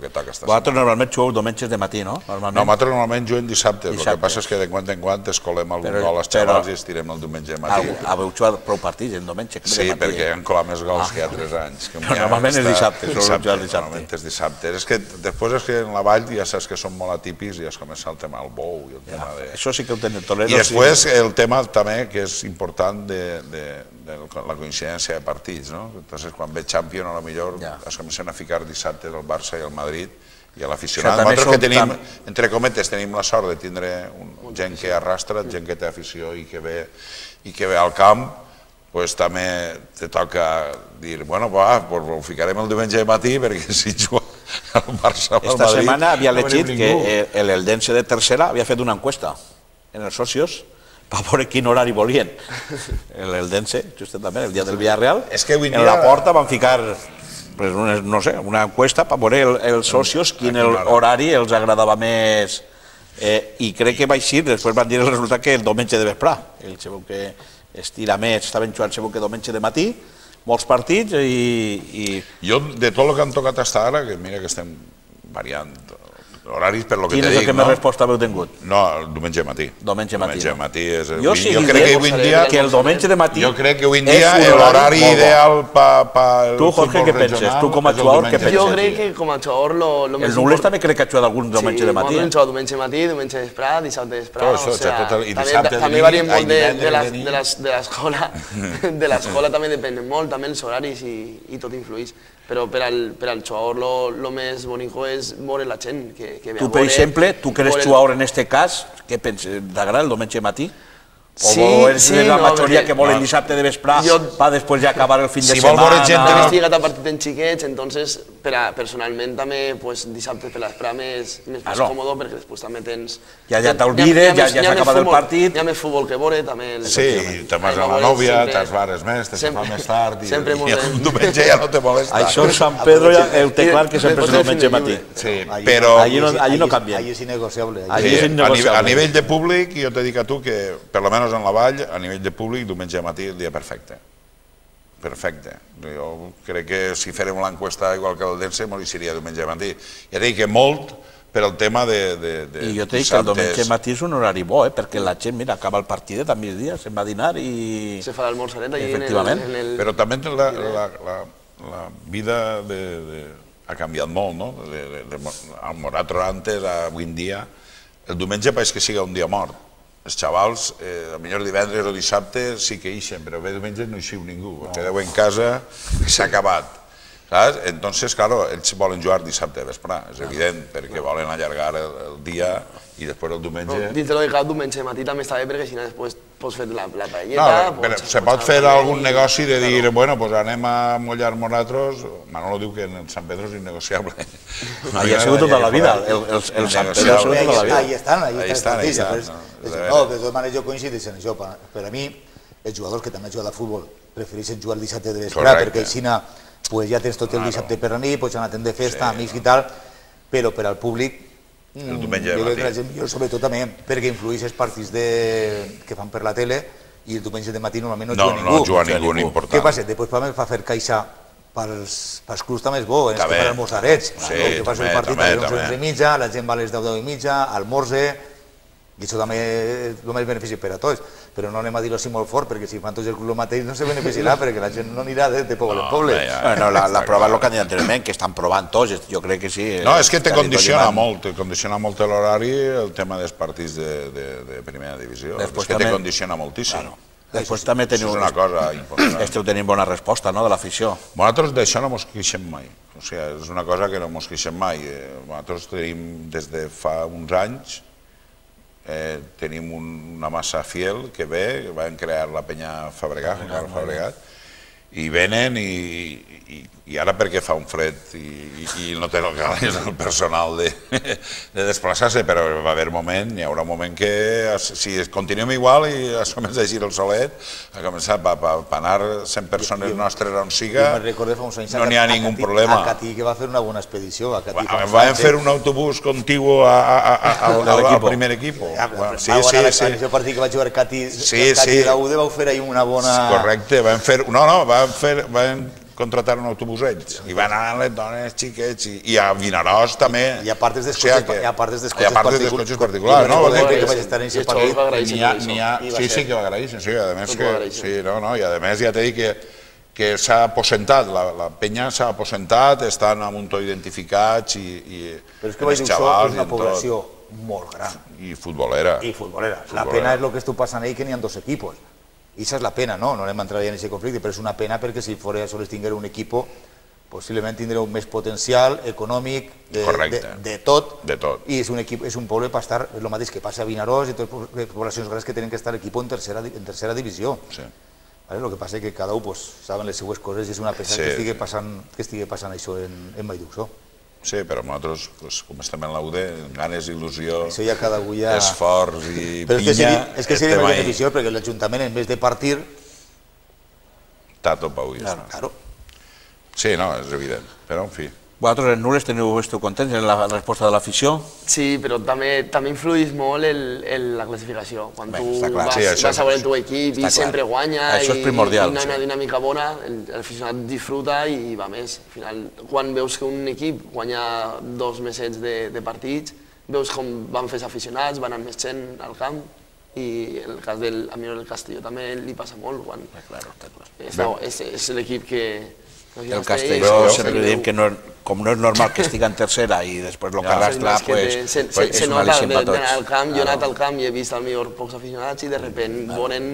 que toca esta setmana. Vosaltres normalment jugueu diumenges de matí, no? No, nosaltres normalment juguem dissabte, el que passa és que de quan en quan escolem algun gol als xavals i estirem el diumenge de matí. Haveu jugat prou partits en diumenge? Sí, perquè han colat més gols que hi ha 3 anys. Però normalment és dissabte, normalment és dissabte. És que després és que en la vall ja saps que són molt atípics i has començat el tema del bou i el tema de... Això sí que ho tenen Toledo. I després el tema també que és important de la coincidència de partits, no? Entonces quan ve Champions a lo millor es comencen a ficar dissabte el Barça i el Madrid i a l'aficionat. Nosaltres que tenim, entre cometes, tenim la sort de tindre gent que arrastra, gent que té afició i que ve al camp, doncs també te toca dir, bueno, ho ficarem el diumenge de matí perquè si juga el Barça o el Madrid... Esta setmana havia llegit que l'Eldense de tercera havia fet una encuesta en els socios per veure quin horari volien. L'Eldense, justament, el dia del Villarreal, en la porta van ficar una encuesta per veure els socios quin horari els agradava més, i crec que va així, després van dir el resultat que el diumenge de vesprà, ells sabeu que estira més, estaven jugant sabeu que diumenge de matí, molts partits i... Jo, de tot el que han tocat fins ara, que mira que estem variant horaris per lo que quin te és el dic, que més resposta haveu tingut? No, el diumenge de matí. Diumenge de matí. Jo crec que avui en dia... Que el diumenge de matí... Jo crec que avui en dia l'horari ideal per... Tu, Jorge, què penses? Tu com a jugador, què penses? Jo crec que com a jugador lo més... El Nules també crec que ha jugat algun diumenge de matí. Sí, hem jugat diumenge de matí, diumenge de vesprà, dissabte de vesprà... També varien molt de l'escola, també depèn molt, també els horaris i tot influeix. Però per al jugador el més bonic és veure la gent que ve a veure... Tu, per exemple, tu que eres jugador en aquest cas, què penses? T'agrada el diumenge de matí? O és la majoria que volen dissabte de vesprà per després ja acabar el fin de setmana? Si vol veure gent a partit en xiquets, entonces personalment també dissabte per l'esprà més còmode perquè després també tens... Ja t'olvides, ja s'ha acabat el partit... Hi ha més futbol que veure, també... Sí, te'n vas a la nòvia, te'ls bares més, te fa més tard i el diumenge ja no te molesta. Això en Sant Pedro ho té clar que sempre és el diumenge matí. Sí, però... Allí no canvia. Allí és innegociable. A nivell de públic, jo te dic a tu que, per lo menos en la vall, a nivell de públic, diumenge matí el dia perfecte. Perfecte. Jo crec que si fèrem l'enquesta igual que el d'Eldense, m'ho seria diumenge matí. Ja dic que molt per al tema de... I jo te dic que el diumenge matí és un horari bo, perquè la gent, mira, acaba el partidet a migdia, se'n va a dinar i... Se fa l'almorzaret allí en el... Però també la vida ha canviat molt, no? Al Moratro antes, avui en dia, el diumenge pareix que siga un dia mort. Els xavals, potser divendres o dissabte sí que ixen, però bé diumenge no ixiu ningú, quedeu en casa i s'ha acabat. Entonces, claro, ells volen jugar dissabte de vesprà, és evident, perquè volen allargar el dia i després el diumenge... Dins de lo que cal, diumenge de matí també està bé perquè si no després pots fer la paelleta... No, se pot fer algun negoci de dir, bueno, doncs anem a mullar nosaltres... Manolo diu que en Sant Pedro és innegociable. Allí ha sigut tota la vida, el Sant Pedro ha sigut tota la vida. Ahí estan. No, de totes maneres jo coincideixo en això. Per a mi, els jugadors que també han jugat a futbol prefereixen jugar el dissabte de vesprà perquè així ja tens tot el dissabte per la nit, pots anar de festa, amics i tal, però per al públic El diumenge Jo de crec que la matí. gent millor, sobretot també perquè influeix els partits que fan per la tele i el diumenge de matí normalment no juga ningú. No juga ningú important. Què passa? Després fa fer caixa pels clubs també és bo, els que fan almorzarets. El que passa el partit a les 11:30, la gent va a les 10:30, almorze, i això també és el més benefici per a tots. Però no anem a dir-ho així molt fort, perquè si fan tots el club el mateix no se beneficiarà, perquè la gent no anirà de poble en poble. Bueno, la prova és el que han dit anteriorment, que estan provant tots, jo crec que sí. No, és que te condiciona molt l'horari el tema dels partits de primera divisió. És que te condiciona moltíssim. Després també teniu... És una cosa important. Esteu tenint bona resposta, no?, de l'afició. Nosaltres d'això no mos queixem mai. O sigui, és una cosa que no mos queixem mai. Nosaltres tenim, des de fa uns anys, tenim una massa fiel que ve, que van crear la penya Fabregat, i venen i ara perquè fa un fred i no té el personal de desplaçar-se, però va haver moment, hi haurà un moment que si continuem igual i assumeix de girar el solet, a començar per anar 100 persones nostres on siga, no n'hi ha ningú problema. A Catí, que va fer una bona expedició. Van fer un autobús contigu al primer equip. Sí. En el partit que va jugar Catí i la UD vau fer ahir una bona... Correcte, van contratar un autobús ells i van anar les dones, xiquets i a Vinaròs també. I a part dels cotxes particulars. No, vol dir que vaig estar en aquest partit. Sí, que va agraïssin. I a més ja t'he dit que s'ha aposentat, la penya s'ha aposentat, estan a un to identificats i però és que vaig dir, això és una població molt gran. I futbolera. La pena és el que està passant ahí, que n'hi ha dos equipos. I això és la pena, no anem a entrar en aquest conflicte, però és una pena perquè si fora sols tinguera un equip, possiblement tindreu més potencial econòmic de tot, i és un poble per estar, és el mateix que passa a Vinaròs i totes les poblacions grans que tenen que estar l'equip en tercera divisió. El que passa és que cada un saben les seues coses i és una pena que estigui passant això en Vallduxó. Sí, però nosaltres, com estem en la UD, ganes, il·lusió, esforç i pinya... És que seria més beneficiós perquè l'Ajuntament, en vez de partir... Tato pau i ja està. Sí, no, és evident, però en fi. Vosaltres en Nules esteu contents en la resposta de l'afició? Sí, però també influeix molt la classificació. Quan tu vas a veure el teu equip i sempre guanya i hi ha una dinàmica bona, l'aficionat disfruta i va més. Al final, quan veus que un equip guanya 2 mesets de partits, veus com van fer els aficionats, van anar més gent al camp, i el cas del Castelló també li passa molt. És l'equip que... El Castelló sempre diem que com no és normal que estigui en tercera i després el que arrastra és un al·licient per tots. Jo he anat al camp i he vist al millor pocs aficionats i de sobte volen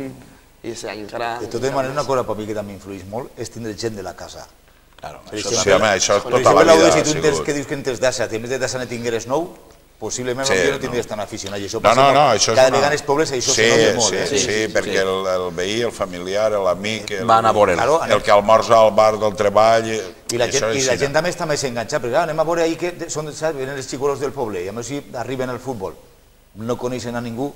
i aquest any encara... De totes maneres, una cosa per mi que també influeix molt és tindre gent de la casa. Això tota la vida ha sigut. Si tu que dius que en tens d'assa, a més de d'assa ne tingueres 9, possiblement no tindries tan aficionat. Cada vegada els pobles això se nota molt. Sí, perquè el veí, el familiar, l'amic, el que almorza al bar del treball... I la gent també està més enganxada, perquè anem a veure ahir que venen els xicolos del poble, i a més si arriben al futbol, no coneixen a ningú,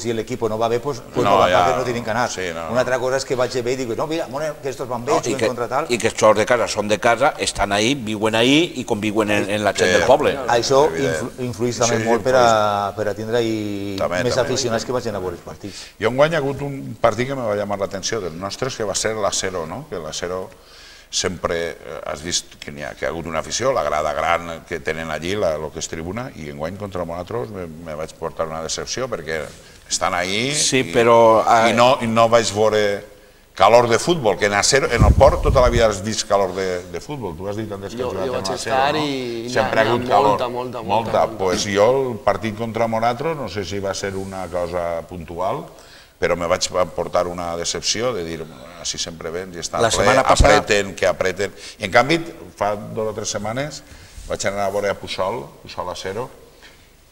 si l'equip no va bé, no tenen que anar. Una altra cosa és que vaig bé i dic, no, mira, que estos van bé, juguen contra tal... I que els xors de casa són de casa, estan ahí, viuen ahí i conviuen en la gent del poble. Això influeix també molt per a tindre més aficionats que vagin a veure els partits. Jo enguany ha hagut un partit que me va llamar l'atenció dels nostres, que va ser l'Acero, no? Que l'Acero sempre has vist que ha hagut una afició, la grada gran que tenen allí, el que és tribuna, i enguany contra nosaltres me vaig portar una decepció perquè estan ahí i no vaig veure calor de futbol, que en el Port tota la vida has vist calor de futbol. Tu has dit antes que has jugat amb l'Acero, no? Sempre ha hagut calor. Molta. Doncs jo el partit contra nosaltres, no sé si va ser una cosa puntual, però me vaig portar una decepció de dir, així sempre vens i estan apreten, que apreten. I en canvi, fa 2 o 3 setmanes vaig anar a veure a Puçol Acero,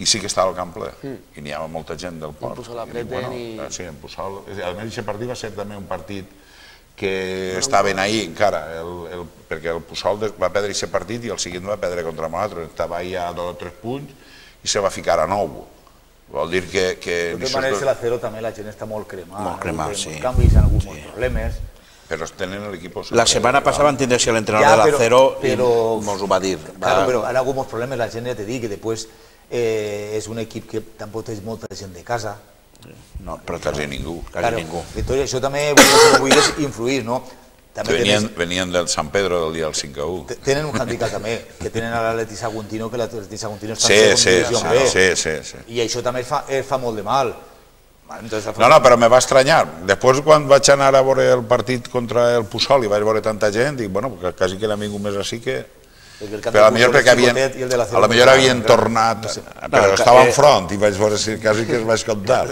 i sí que estava al camp ple, i n'hi havia molta gent del Port. En Puçol apreten i... Sí, en Puçol. A més, aquest partit va ser també un partit que estaven ahí encara, perquè el Puçol va perdre aquest partit i el següent va perdre contra nosaltres, estava ahí a 2 o 3 punts i se va ficar a 9. Vol dir que... De totes maneres, l'Acero també la gent està molt cremada. Molt cremada, sí. En canvi, hi ha hagut molts problemes. Però tenen l'equip... La setmana passada van tindre l'entrenador de l'Acero i mos ho va dir. Claro, però hi ha hagut molts problemes, la gent ja t'he dit que després és un equip que tampoc té molta gent de casa. No, Però quasi ningú. quasi ningú. Entonces, això també vull influir, no? Venien del San Pedro del dia del 5-1. Tenen un handicap també, que tenen a l'Atleti Saguntino, que l'Atleti Saguntino està Sí, en divisió B. sí. I això també fa molt de mal. No, però me va estranyar. Després, quan vaig anar a veure el partit contra el Puçol i vaig veure tanta gent, dic, bueno, quasi que n'ha vingut més així que... Però potser havien tornat, però estava enfront i vaig veure si quasi que es vaig comptar.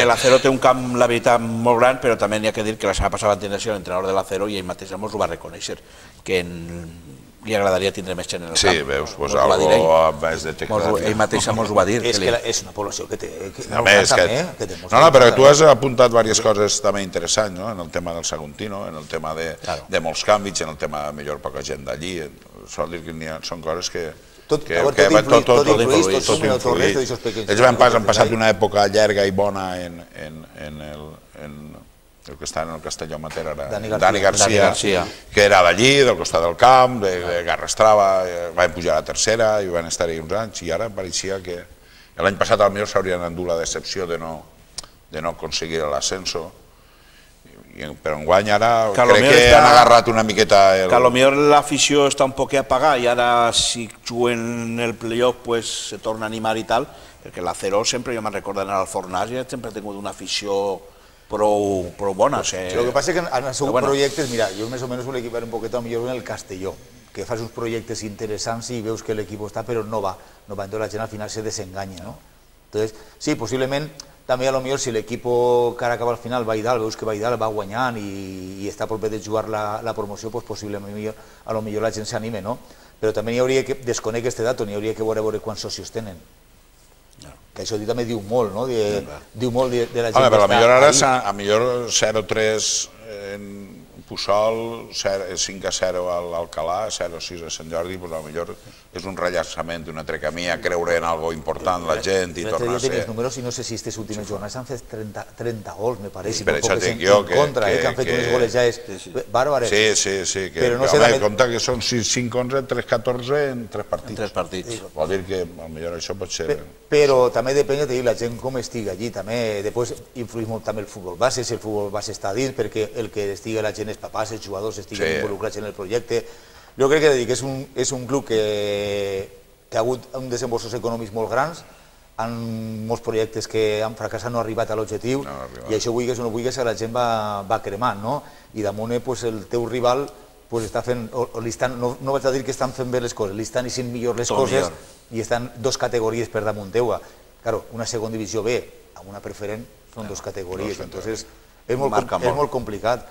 L'Acero té un camp, la veritat, molt gran, però també n'hi ha que dir que la setmana passada va tenir l'entrenador de l'Acero i ell mateix ens ho va reconèixer, que li agradaria tindre més gent en el camp. Sí, veus, doncs algo vaig detectar. Ell mateix ens ho va dir. És que és una població que té... No, però tu has apuntat diverses coses també interessants, en el tema del Saguntino, en el tema de molts canvis, en el tema de millor poca gent d'allí. Sol dir que són coses que... Tot influït. Ells han passat una època llarga i bona en el que està en el Castelló Mater, Dani Garcia, que era d'allí, del costat del camp, de Garrastrava, van pujar a la tercera i van estar-hi uns anys, i ara pareixia que l'any passat potser s'haurien endut la decepció de no aconseguir l'ascenso, però enguany ara crec que han agarrat una miqueta... Que potser l'afició està un poc apagada i ara si juguen el playoff se torna a animar i tal, perquè l'Acero sempre, jo me'n recordo anar al Fornàs i sempre ha tingut una afició prou bona. Lo que passa és que han sigut projectes, mira, jo més o menys vull equipar un poquet millor en el Castelló, que fas uns projectes interessants i veus que l'equip està, però no va, entonces la gent al final se desenganya, no? Entonces, sí, possiblement, també a lo millor si l'equip que ara acaba al final va a dalt, veus que va a dalt, va guanyant i està a prop de jugar la promoció, doncs possiblement a lo millor la gent s'anime, no? Però també n'hi hauria que, desconec aquest dato, n'hi hauria que veure quants socios tenen. Que això també diu molt, no? Diu molt de la gent que està ahí. A millor 0-3 en Puçol, 5-0 a l'Alcalà, 0-6 a Sant Jordi, doncs potser és un rellançament, un altre camí a creure en algo important la gent i tornar a ser... Els números, i no sé si aquestes últimes jornades han fet 30 gols, me pareix, per això dic jo que han fet unes golejades bàrbares. Sí, que compta que són 5-11, 3-14 en 3 partits. En 3 partits. Vol dir que potser això pot ser... Però també depèn de la gent com estigui allí, també després influeix molt també el futbol base, si el futbol base està dins, perquè el que estigui la gent, els papàs, els jugadors estiguen involucrats en el projecte. Jo crec que és un club que ha hagut uns desembolsos econòmics molt grans, amb molts projectes que han fracassat, no han arribat a l'objectiu, i això vulguis o no vulguis, la gent va cremant, no? I damunt el teu rival està fent, no vaig a dir que estan fent bé les coses, li estan eixint millor les coses i estan 2 categories per damunt teua. Claro, una segona divisió B amb una preferent són 2 categories, entonces és molt complicat,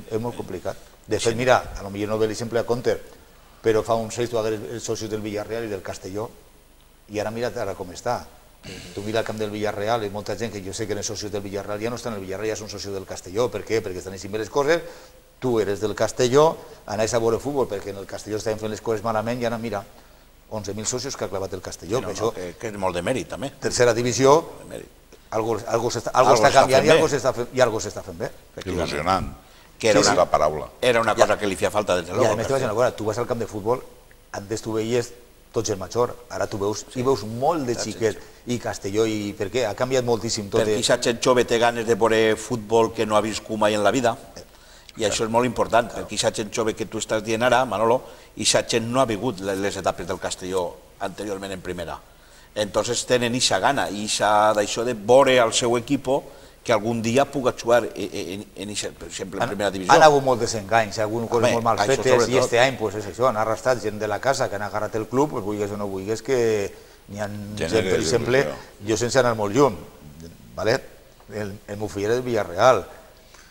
és molt complicat. De fet, mira, potser no ve l'exemple a compte, però fa uns 6 tu hagués els socis del Villarreal i del Castelló, i ara mira com està. Tu mira el camp del Villarreal, i molta gent que jo sé que els socis del Villarreal ja no estan al Villarreal, ja són socis del Castelló. Per què? Perquè estan així bé les coses, tu eres del Castelló, anaves a veure futbol, perquè en el Castelló estaven fent les coses malament, i ara mira, 11.000 socios que ha clavat el Castelló. Que és molt de mèrit, també. Tercera divisió, algo està canviant i algo s'està fent bé. Il·lusionant. És la paraula. Era una cosa que li feia falta, des de luego. I a més te vaig dir una cosa, tu vas al camp de futbol, antes tu veies tots el major, ara tu veus molt de xiquets, i Castelló, i per què? Ha canviat moltíssim tot. Perquè aquesta gent jove té ganes de veure futbol que no ha viscut mai en la vida, i això és molt important, perquè aquesta gent jove que tu estàs dient ara, Manolo, aquesta gent no ha vigut les etapes del Castelló anteriorment en primera. Entonces tenen aquesta gana, i d'això de veure al seu equip que algun dia puga jugar, per exemple, en primera divisió. Han hagut molt desenganys, algunes coses molt mal fetes, i aquest any és això, han arrastrat gent de la casa que han agarrat el club, vulguis o no vulguis, que n'hi ha gent, per exemple, jo sense anar molt lluny, el meu fill era del Villarreal,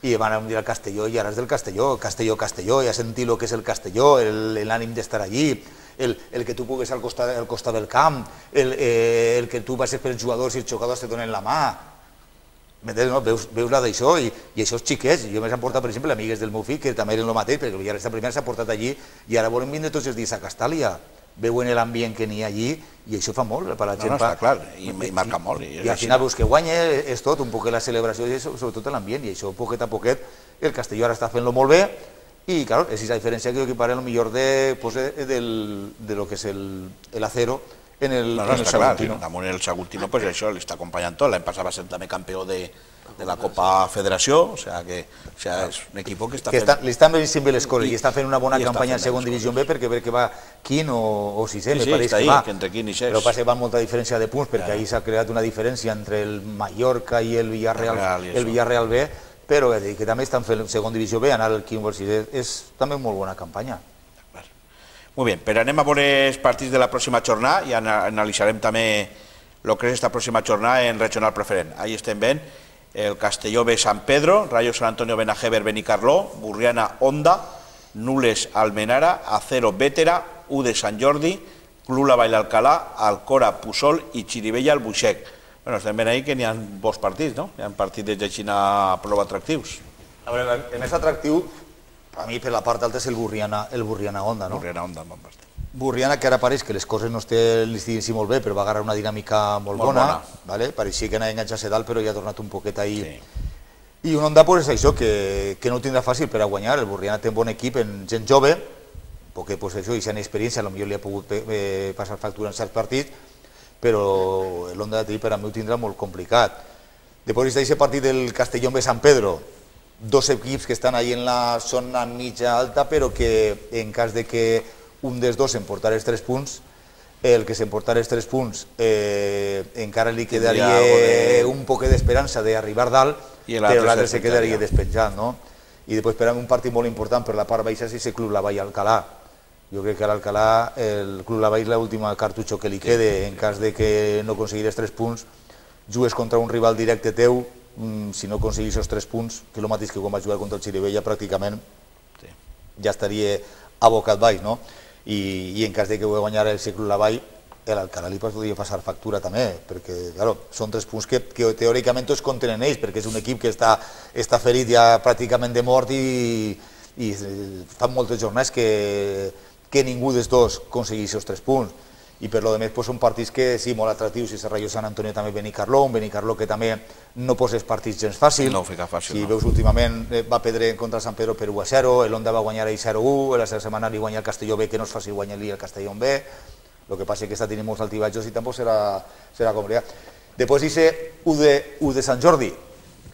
i van dir al Castelló, i ara és del Castelló, Castelló, ja sentir el que és el Castelló, l'ànim d'estar allí, el que tu pugues al costat del camp, el que tu passes per els jugadors i els jugadors te donen la mà. Veus la d'això, i això és xiquets. Jo m'he portat, per exemple, amigues del meu fill, que també eren el mateix, perquè el Villarreal primer s'ha portat allí, i ara volen vindre tots els dies a Castàlia. Veuen l'ambient que n'hi ha allí, i això fa molt per la gent. No, està clar, i marca molt. I al final veus que guanya, és tot, un poquet la celebració, i sobretot l'ambient, i això poquet a poquet, el Castelló ara està fent-lo molt bé, i clar, és aquesta diferència que jo equiparé el millor de lo que és l'Acero en el Està clar, Saguntino. damunt el Saguntino, pues això li està acompanyant tot. L'any passat va ser també campió de la Copa Federació, o sea que és un equip que està fent... Li estan venint bé les coses i està fent una bona i està campanya en fent segona divisió B perquè crec que va quin o sisè, me Sí, pareix està que ahí, va. que entre quin i seix. Però passa que va amb molta diferència de punts perquè ahir s'ha creat una diferència entre el Mallorca i el Villarreal B, però que també estan fent segona divisió B, anar al quin o al sisè és també molt bona campanya. Molt bé, però anem a veure els partits de la pròxima jornada i analitzarem també el que és aquesta pròxima jornada en regional preferent. Ahí estem veient el Castelló B Sant Pedro, Rayo San Antonio Benajever Benicarló, Burriana Onda, Nules Almenara, Acero Vétera, U de Sant Jordi, Club La Vall Alcalá, Alcora Pusol i Xirivella Albuixec. Bueno, estem veient ahí que n'hi ha bons partits, no? Hi ha partits de Xina prou atractius. A veure, el més atractiu, a mi per la part alta és el Burriana Onda, no? Burriana Onda, bon partit. Burriana, que ara pareix que les coses no li estiguin molt bé, però va agarrar una dinàmica molt bona. Pareixia que anava a enganxar-se dalt, però ja ha tornat un poquet ahir. I un Onda és això, que no ho tindrà fàcil per a guanyar. El Burriana té un bon equip, en gent jove, perquè això, i si han experiència, potser li ha pogut passar factura en certs partits, però l'Onda per a mi ho tindrà molt complicat. Després d'aquest partit del Castellón B Sant Pedro, dos equips que estan ahí en la zona mitja alta, però que en cas de que un dels dos s'emportarà els 3 punts, el que s'emportarà els 3 punts encara li quedaria un poc d'esperança d'arribar dalt, però l'altre se quedaria despenjat, no? I després per a un partit molt important per la part baixa és el Club La Vall Alcalá. Jo crec que a l'Alcalá el Club La Vall és l'última cartutxo que li quede, en cas de que no aconseguires 3 punts, jugues contra un rival directe teu, si no aconseguís els 3 punts, que és el mateix que quan va jugar contra el Xirivella, pràcticament ja estaria abocat baix, no? I en cas de que ho guanyar el Club La Vall, l'Alcalá li podria passar factura també, perquè són 3 punts que teòricament tots contenen ells, perquè és un equip que està ferit ja pràcticament de mort i fan moltes jornades que ningú dels dos aconseguís els 3 punts. I per lo demés són partits que sí, molt atractius, i el Rayo San Antonio també Benicarló, un Benicarló que també no posa els partits gens fàcil. No ho fica fàcil, si veus últimament va perdre contra Sant Pedro per 1-0, l'Onda va guanyar ahir 0-1, la setmana li guanya el Castelló B, que no és fàcil guanyar-li el Castelló B, el que passa és que està tenint molts altibatjos i tampoc serà complicat. Després dice U de Sant Jordi.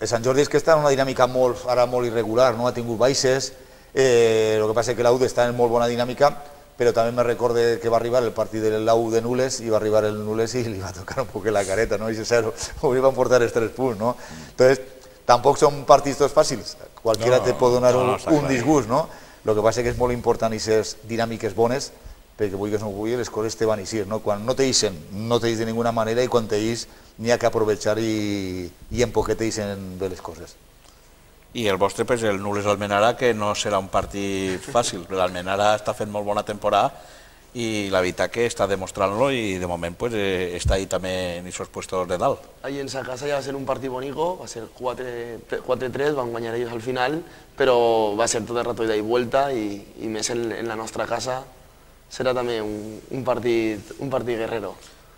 El Sant Jordi és que està en una dinàmica ara molt irregular, no ha tingut baixes, el que passa és que l'U està en molt bona dinàmica, però també me recorde que va arribar el partit de l'U de Nules i va arribar el Nules i li va tocar un poc la careta, no? I li van portar els 3 punts, no? Entonces, tampoc són partits tots fàcils, qualsevol te pot donar un disgust, no? El que passa és que és molt important aquestes dinàmiques bones, perquè vulguis o no vulguis, les coses te van eixir, no? Quan no t'eixen, no t'eix de ninguna manera, i quan t'eix n'hi ha que aprovechar i en poquet t'eixen bé les coses. I el vostre, el Nules Almenara, que no serà un partit fàcil. L'Almenara està fent molt bona temporada i la veritat que està demostrant-lo i de moment està ahí també en esos puestos de dalt. Ahí en sa casa ja va ser un partit bonico, va ser 4-3, van guanyar ells al final, però va ser tot el rato ida i vuelta i més en la nostra casa serà també un partit guerrero.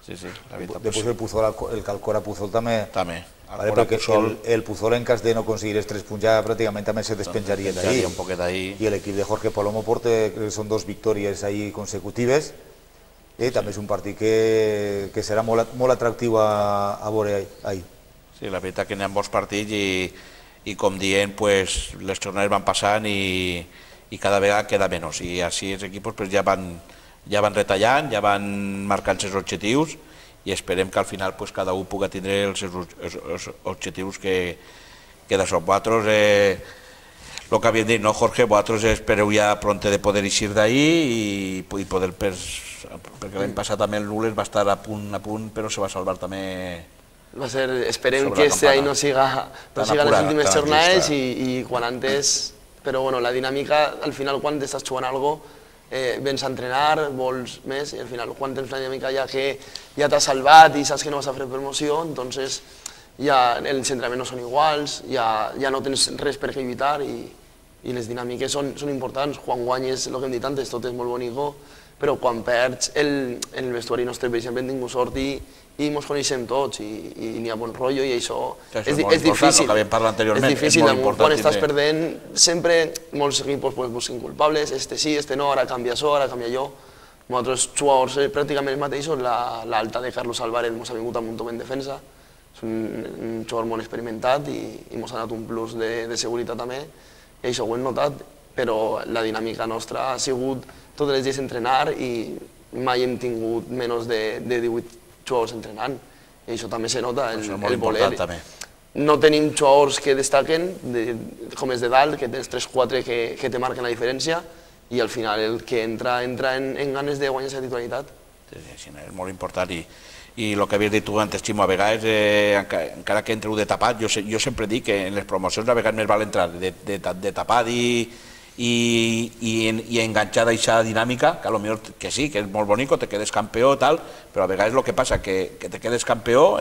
Sí, la veritat. Després el Alcora Pusol també. També. El Pusol, en cas de no aconseguir els 3 punts, ja pràcticament també se despenjaria d'ahir. I l'equip de Jorge Palomo porta, són 2 victòries ahir consecutives. També és un partit que serà molt atractiu a veure ahir. Sí, la veritat que n'hi ha bons partits i com dient, les jornades van passant i cada vegada queda menys. I així els equips ja van retallant, ja van marcant els objectius i esperem que al final cada un pugui tindre els objectius que de són. Vosaltres, el que havíem dit, no, Jorge, vosaltres espereu ja pronte de poder eixir d'ahir i poder, perquè l'any passat també el Nules va estar a punt, però se va salvar també. Esperem que este any no siga les últimes jornades i quan antes, però la dinàmica, al final quan estàs jugant alguna cosa, vens a entrenar, vols més, i al final quan tens una dinàmica ja que ja t'has salvat i saps que no vas a fer promoció, entonces ja els entrenaments no són iguals, ja no tens res per què lluitar i les dinàmiques són importants. Quan guanyes, el que hem dit antes, tot és molt bonico, però quan perds, en el vestuari nostre, per exemple, hem tingut sort i ens coneixem tots i n'hi ha bon rotllo i això és difícil. És difícil, quan estàs perdent, sempre molts equips busquen culpables, este sí, este no, ara canvia això, ara canvia allò, Nosaltres, jugadors pràcticament els mateixos, l'alta de Carlos Álvarez ens ha vingut amb un top en defensa, és un jugador molt experimentat i ens ha donat un plus de seguretat també, i això ho hem notat, però la dinàmica nostra ha sigut tots els dies entrenar i mai hem tingut menys de 18 jugadors entrenant, i això també se nota, el voler. No tenim jugadors que destaquen, com els de dalt, que tens 3-4 que te marquen la diferència, i al final el que entra en ganes de guanyar la titularitat. Sí, és molt important, i el que havies dit tu antes, Ximo, a vegades, encara que entreu de tapat, jo sempre dic que en les promocions a vegades més val entrar de tapat i enganxar d'aquesta dinàmica, que potser que sí, que és molt bonic, te quedes campió i tal, però a vegades el que passa que te quedes campió,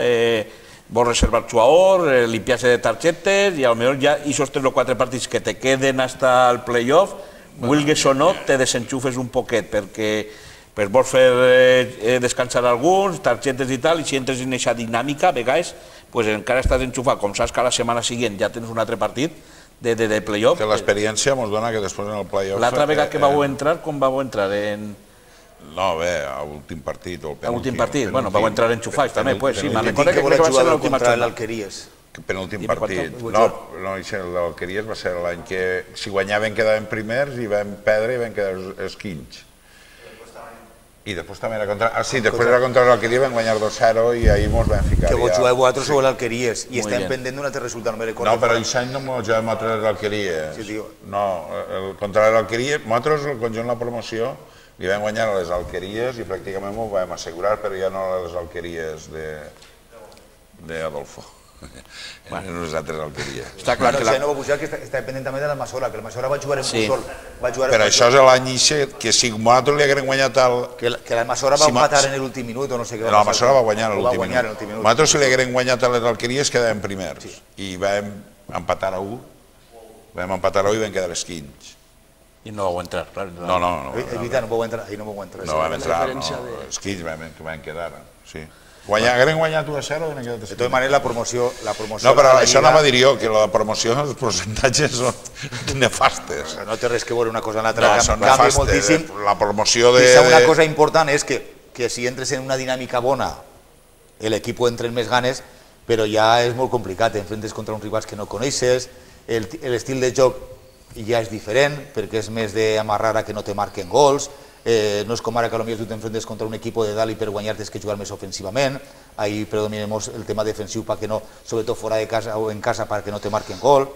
vols reservar el jugador, limpiar-se de targetes, i potser ja aquests 3 o 4 partits que te queden fins al playoff, vulguis o no, te desenxufes un poquet, perquè vols fer descansar alguns, targetes i tal, i si entres en aquesta dinàmica, a vegades encara estàs enxufat, com saps que a la setmana següent ja tens un altre partit de playoff. Que l'experiència ens dona que després en el playoff... L'altra vegada que vau entrar, com vau entrar? No, bé, a l'últim partit o el penúltim. A l'últim partit, bueno, vau entrar enxufats també, pues sí, me'n recordo que va ser jugar l'última contra jornada. l'Alqueries. Penúltim partit. No, l'Alqueries va ser l'any que si guanyaven quedaven primers i vam perdre i vam quedar esquinys. I després també era contra... Ah, sí, després era contra l'Alqueria, vam guanyar 2-0 i ahir mos vam ficar... Que vos jugueu vosaltres sobre l'Alqueries i estem pendent d'un altre resultat, no me recordo. No, però aquest any no mos juguem contra l'Alqueries. Sí, tio. No, contra l'Alqueries, nosaltres, el conjunt de la promoció, li vam guanyar a les Alqueries i pràcticament m'ho vam assegurar, però ja no a les Alqueries d'Adolfo. Nosaltres Alqueries. Està clar que no va pujar, que està pendent també de l'Almassora, que l'Almassora va jugar en Puçol. Però això és l'any que si nosaltres li haguem guanyat el... Que l'Almassora va empatar en l'últim minut o no sé què. L'Almassora va guanyar en l'últim minut. Nosaltres si li haguem guanyat a les Alqueries quedàvem primers. I vam empatar a 1. Vam empatar a 1 i vam quedar esquins. I no vau entrar, clar. No. Evita, no vau entrar. No vam entrar, esquins vam quedar, sí. Haguem guanyat 1-0 i de tota manera la promoció... No, però això anava a dir jo, que la promoció, els percentatges són nefastes. No té res que veure una cosa amb l'altra, són canvia moltíssim. La promoció de... Una cosa important és que si entres en una dinàmica bona, l'equip entra en més ganes, però ja és molt complicat, enfrentes contra uns rivals que no coneixes, l'estil de joc ja és diferent, perquè és més d'amarrar a que no te marquen gols, no és com ara que potser tu t'enfrentes contra un equip de dalt i per guanyar tens que jugar més ofensivament, ahí predominem el tema defensiu perquè no, sobretot fora de casa o en casa perquè no te marquen gol.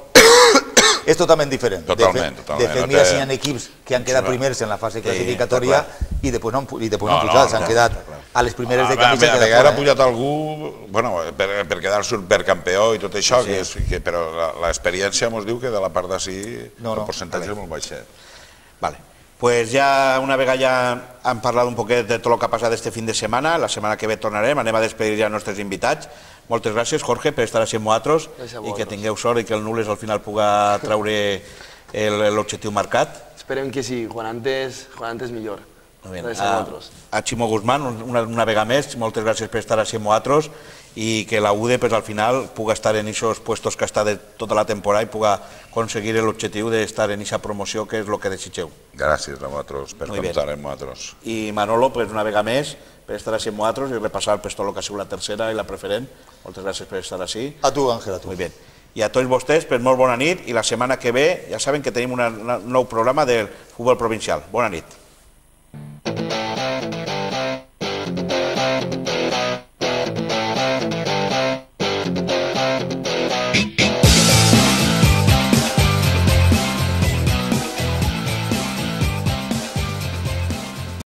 És totalment diferent. Totalment. De fet, mira si hi ha equipos que han quedat primers en la fase classificatòria i després no han pujat, s'han quedat a les primeres de camí. A vegades ha pujat algú per quedar supercampió i tot això, però l'experiència ens diu que de la part d'ací el percentatge és molt baixet. Vale. Pues ja una vegada ja hem parlat un poquet de tot el que ha passat este fin de setmana, la setmana que ve tornarem, anem a despedir ja els nostres invitats. Moltes gràcies, Jorge, per estar així amb nosaltres i que tingueu sort i que el Nules al final puga treure l'objectiu marcat. Esperem que sí, quan antes millor. A Ximo Guzmán, una vegada més, moltes gràcies per estar així amb nosaltres i que la UDE al final puga estar en aquests puestos que està de tota la temporada i puga aconseguir l'objectiu d'estar en aquesta promoció que és el que desitgeu. Gràcies a vosaltres per comptar amb nosaltres. I Manolo, una vegada més, per estar així amb nosaltres i repassar tot el que ha sigut la tercera i la preferent. Moltes gràcies per estar així. A tu, Àngel, a tu. Muy bien. I a tots vostès, molt bona nit i la setmana que ve ja saben que tenim un nou programa del futbol provincial. Bona nit.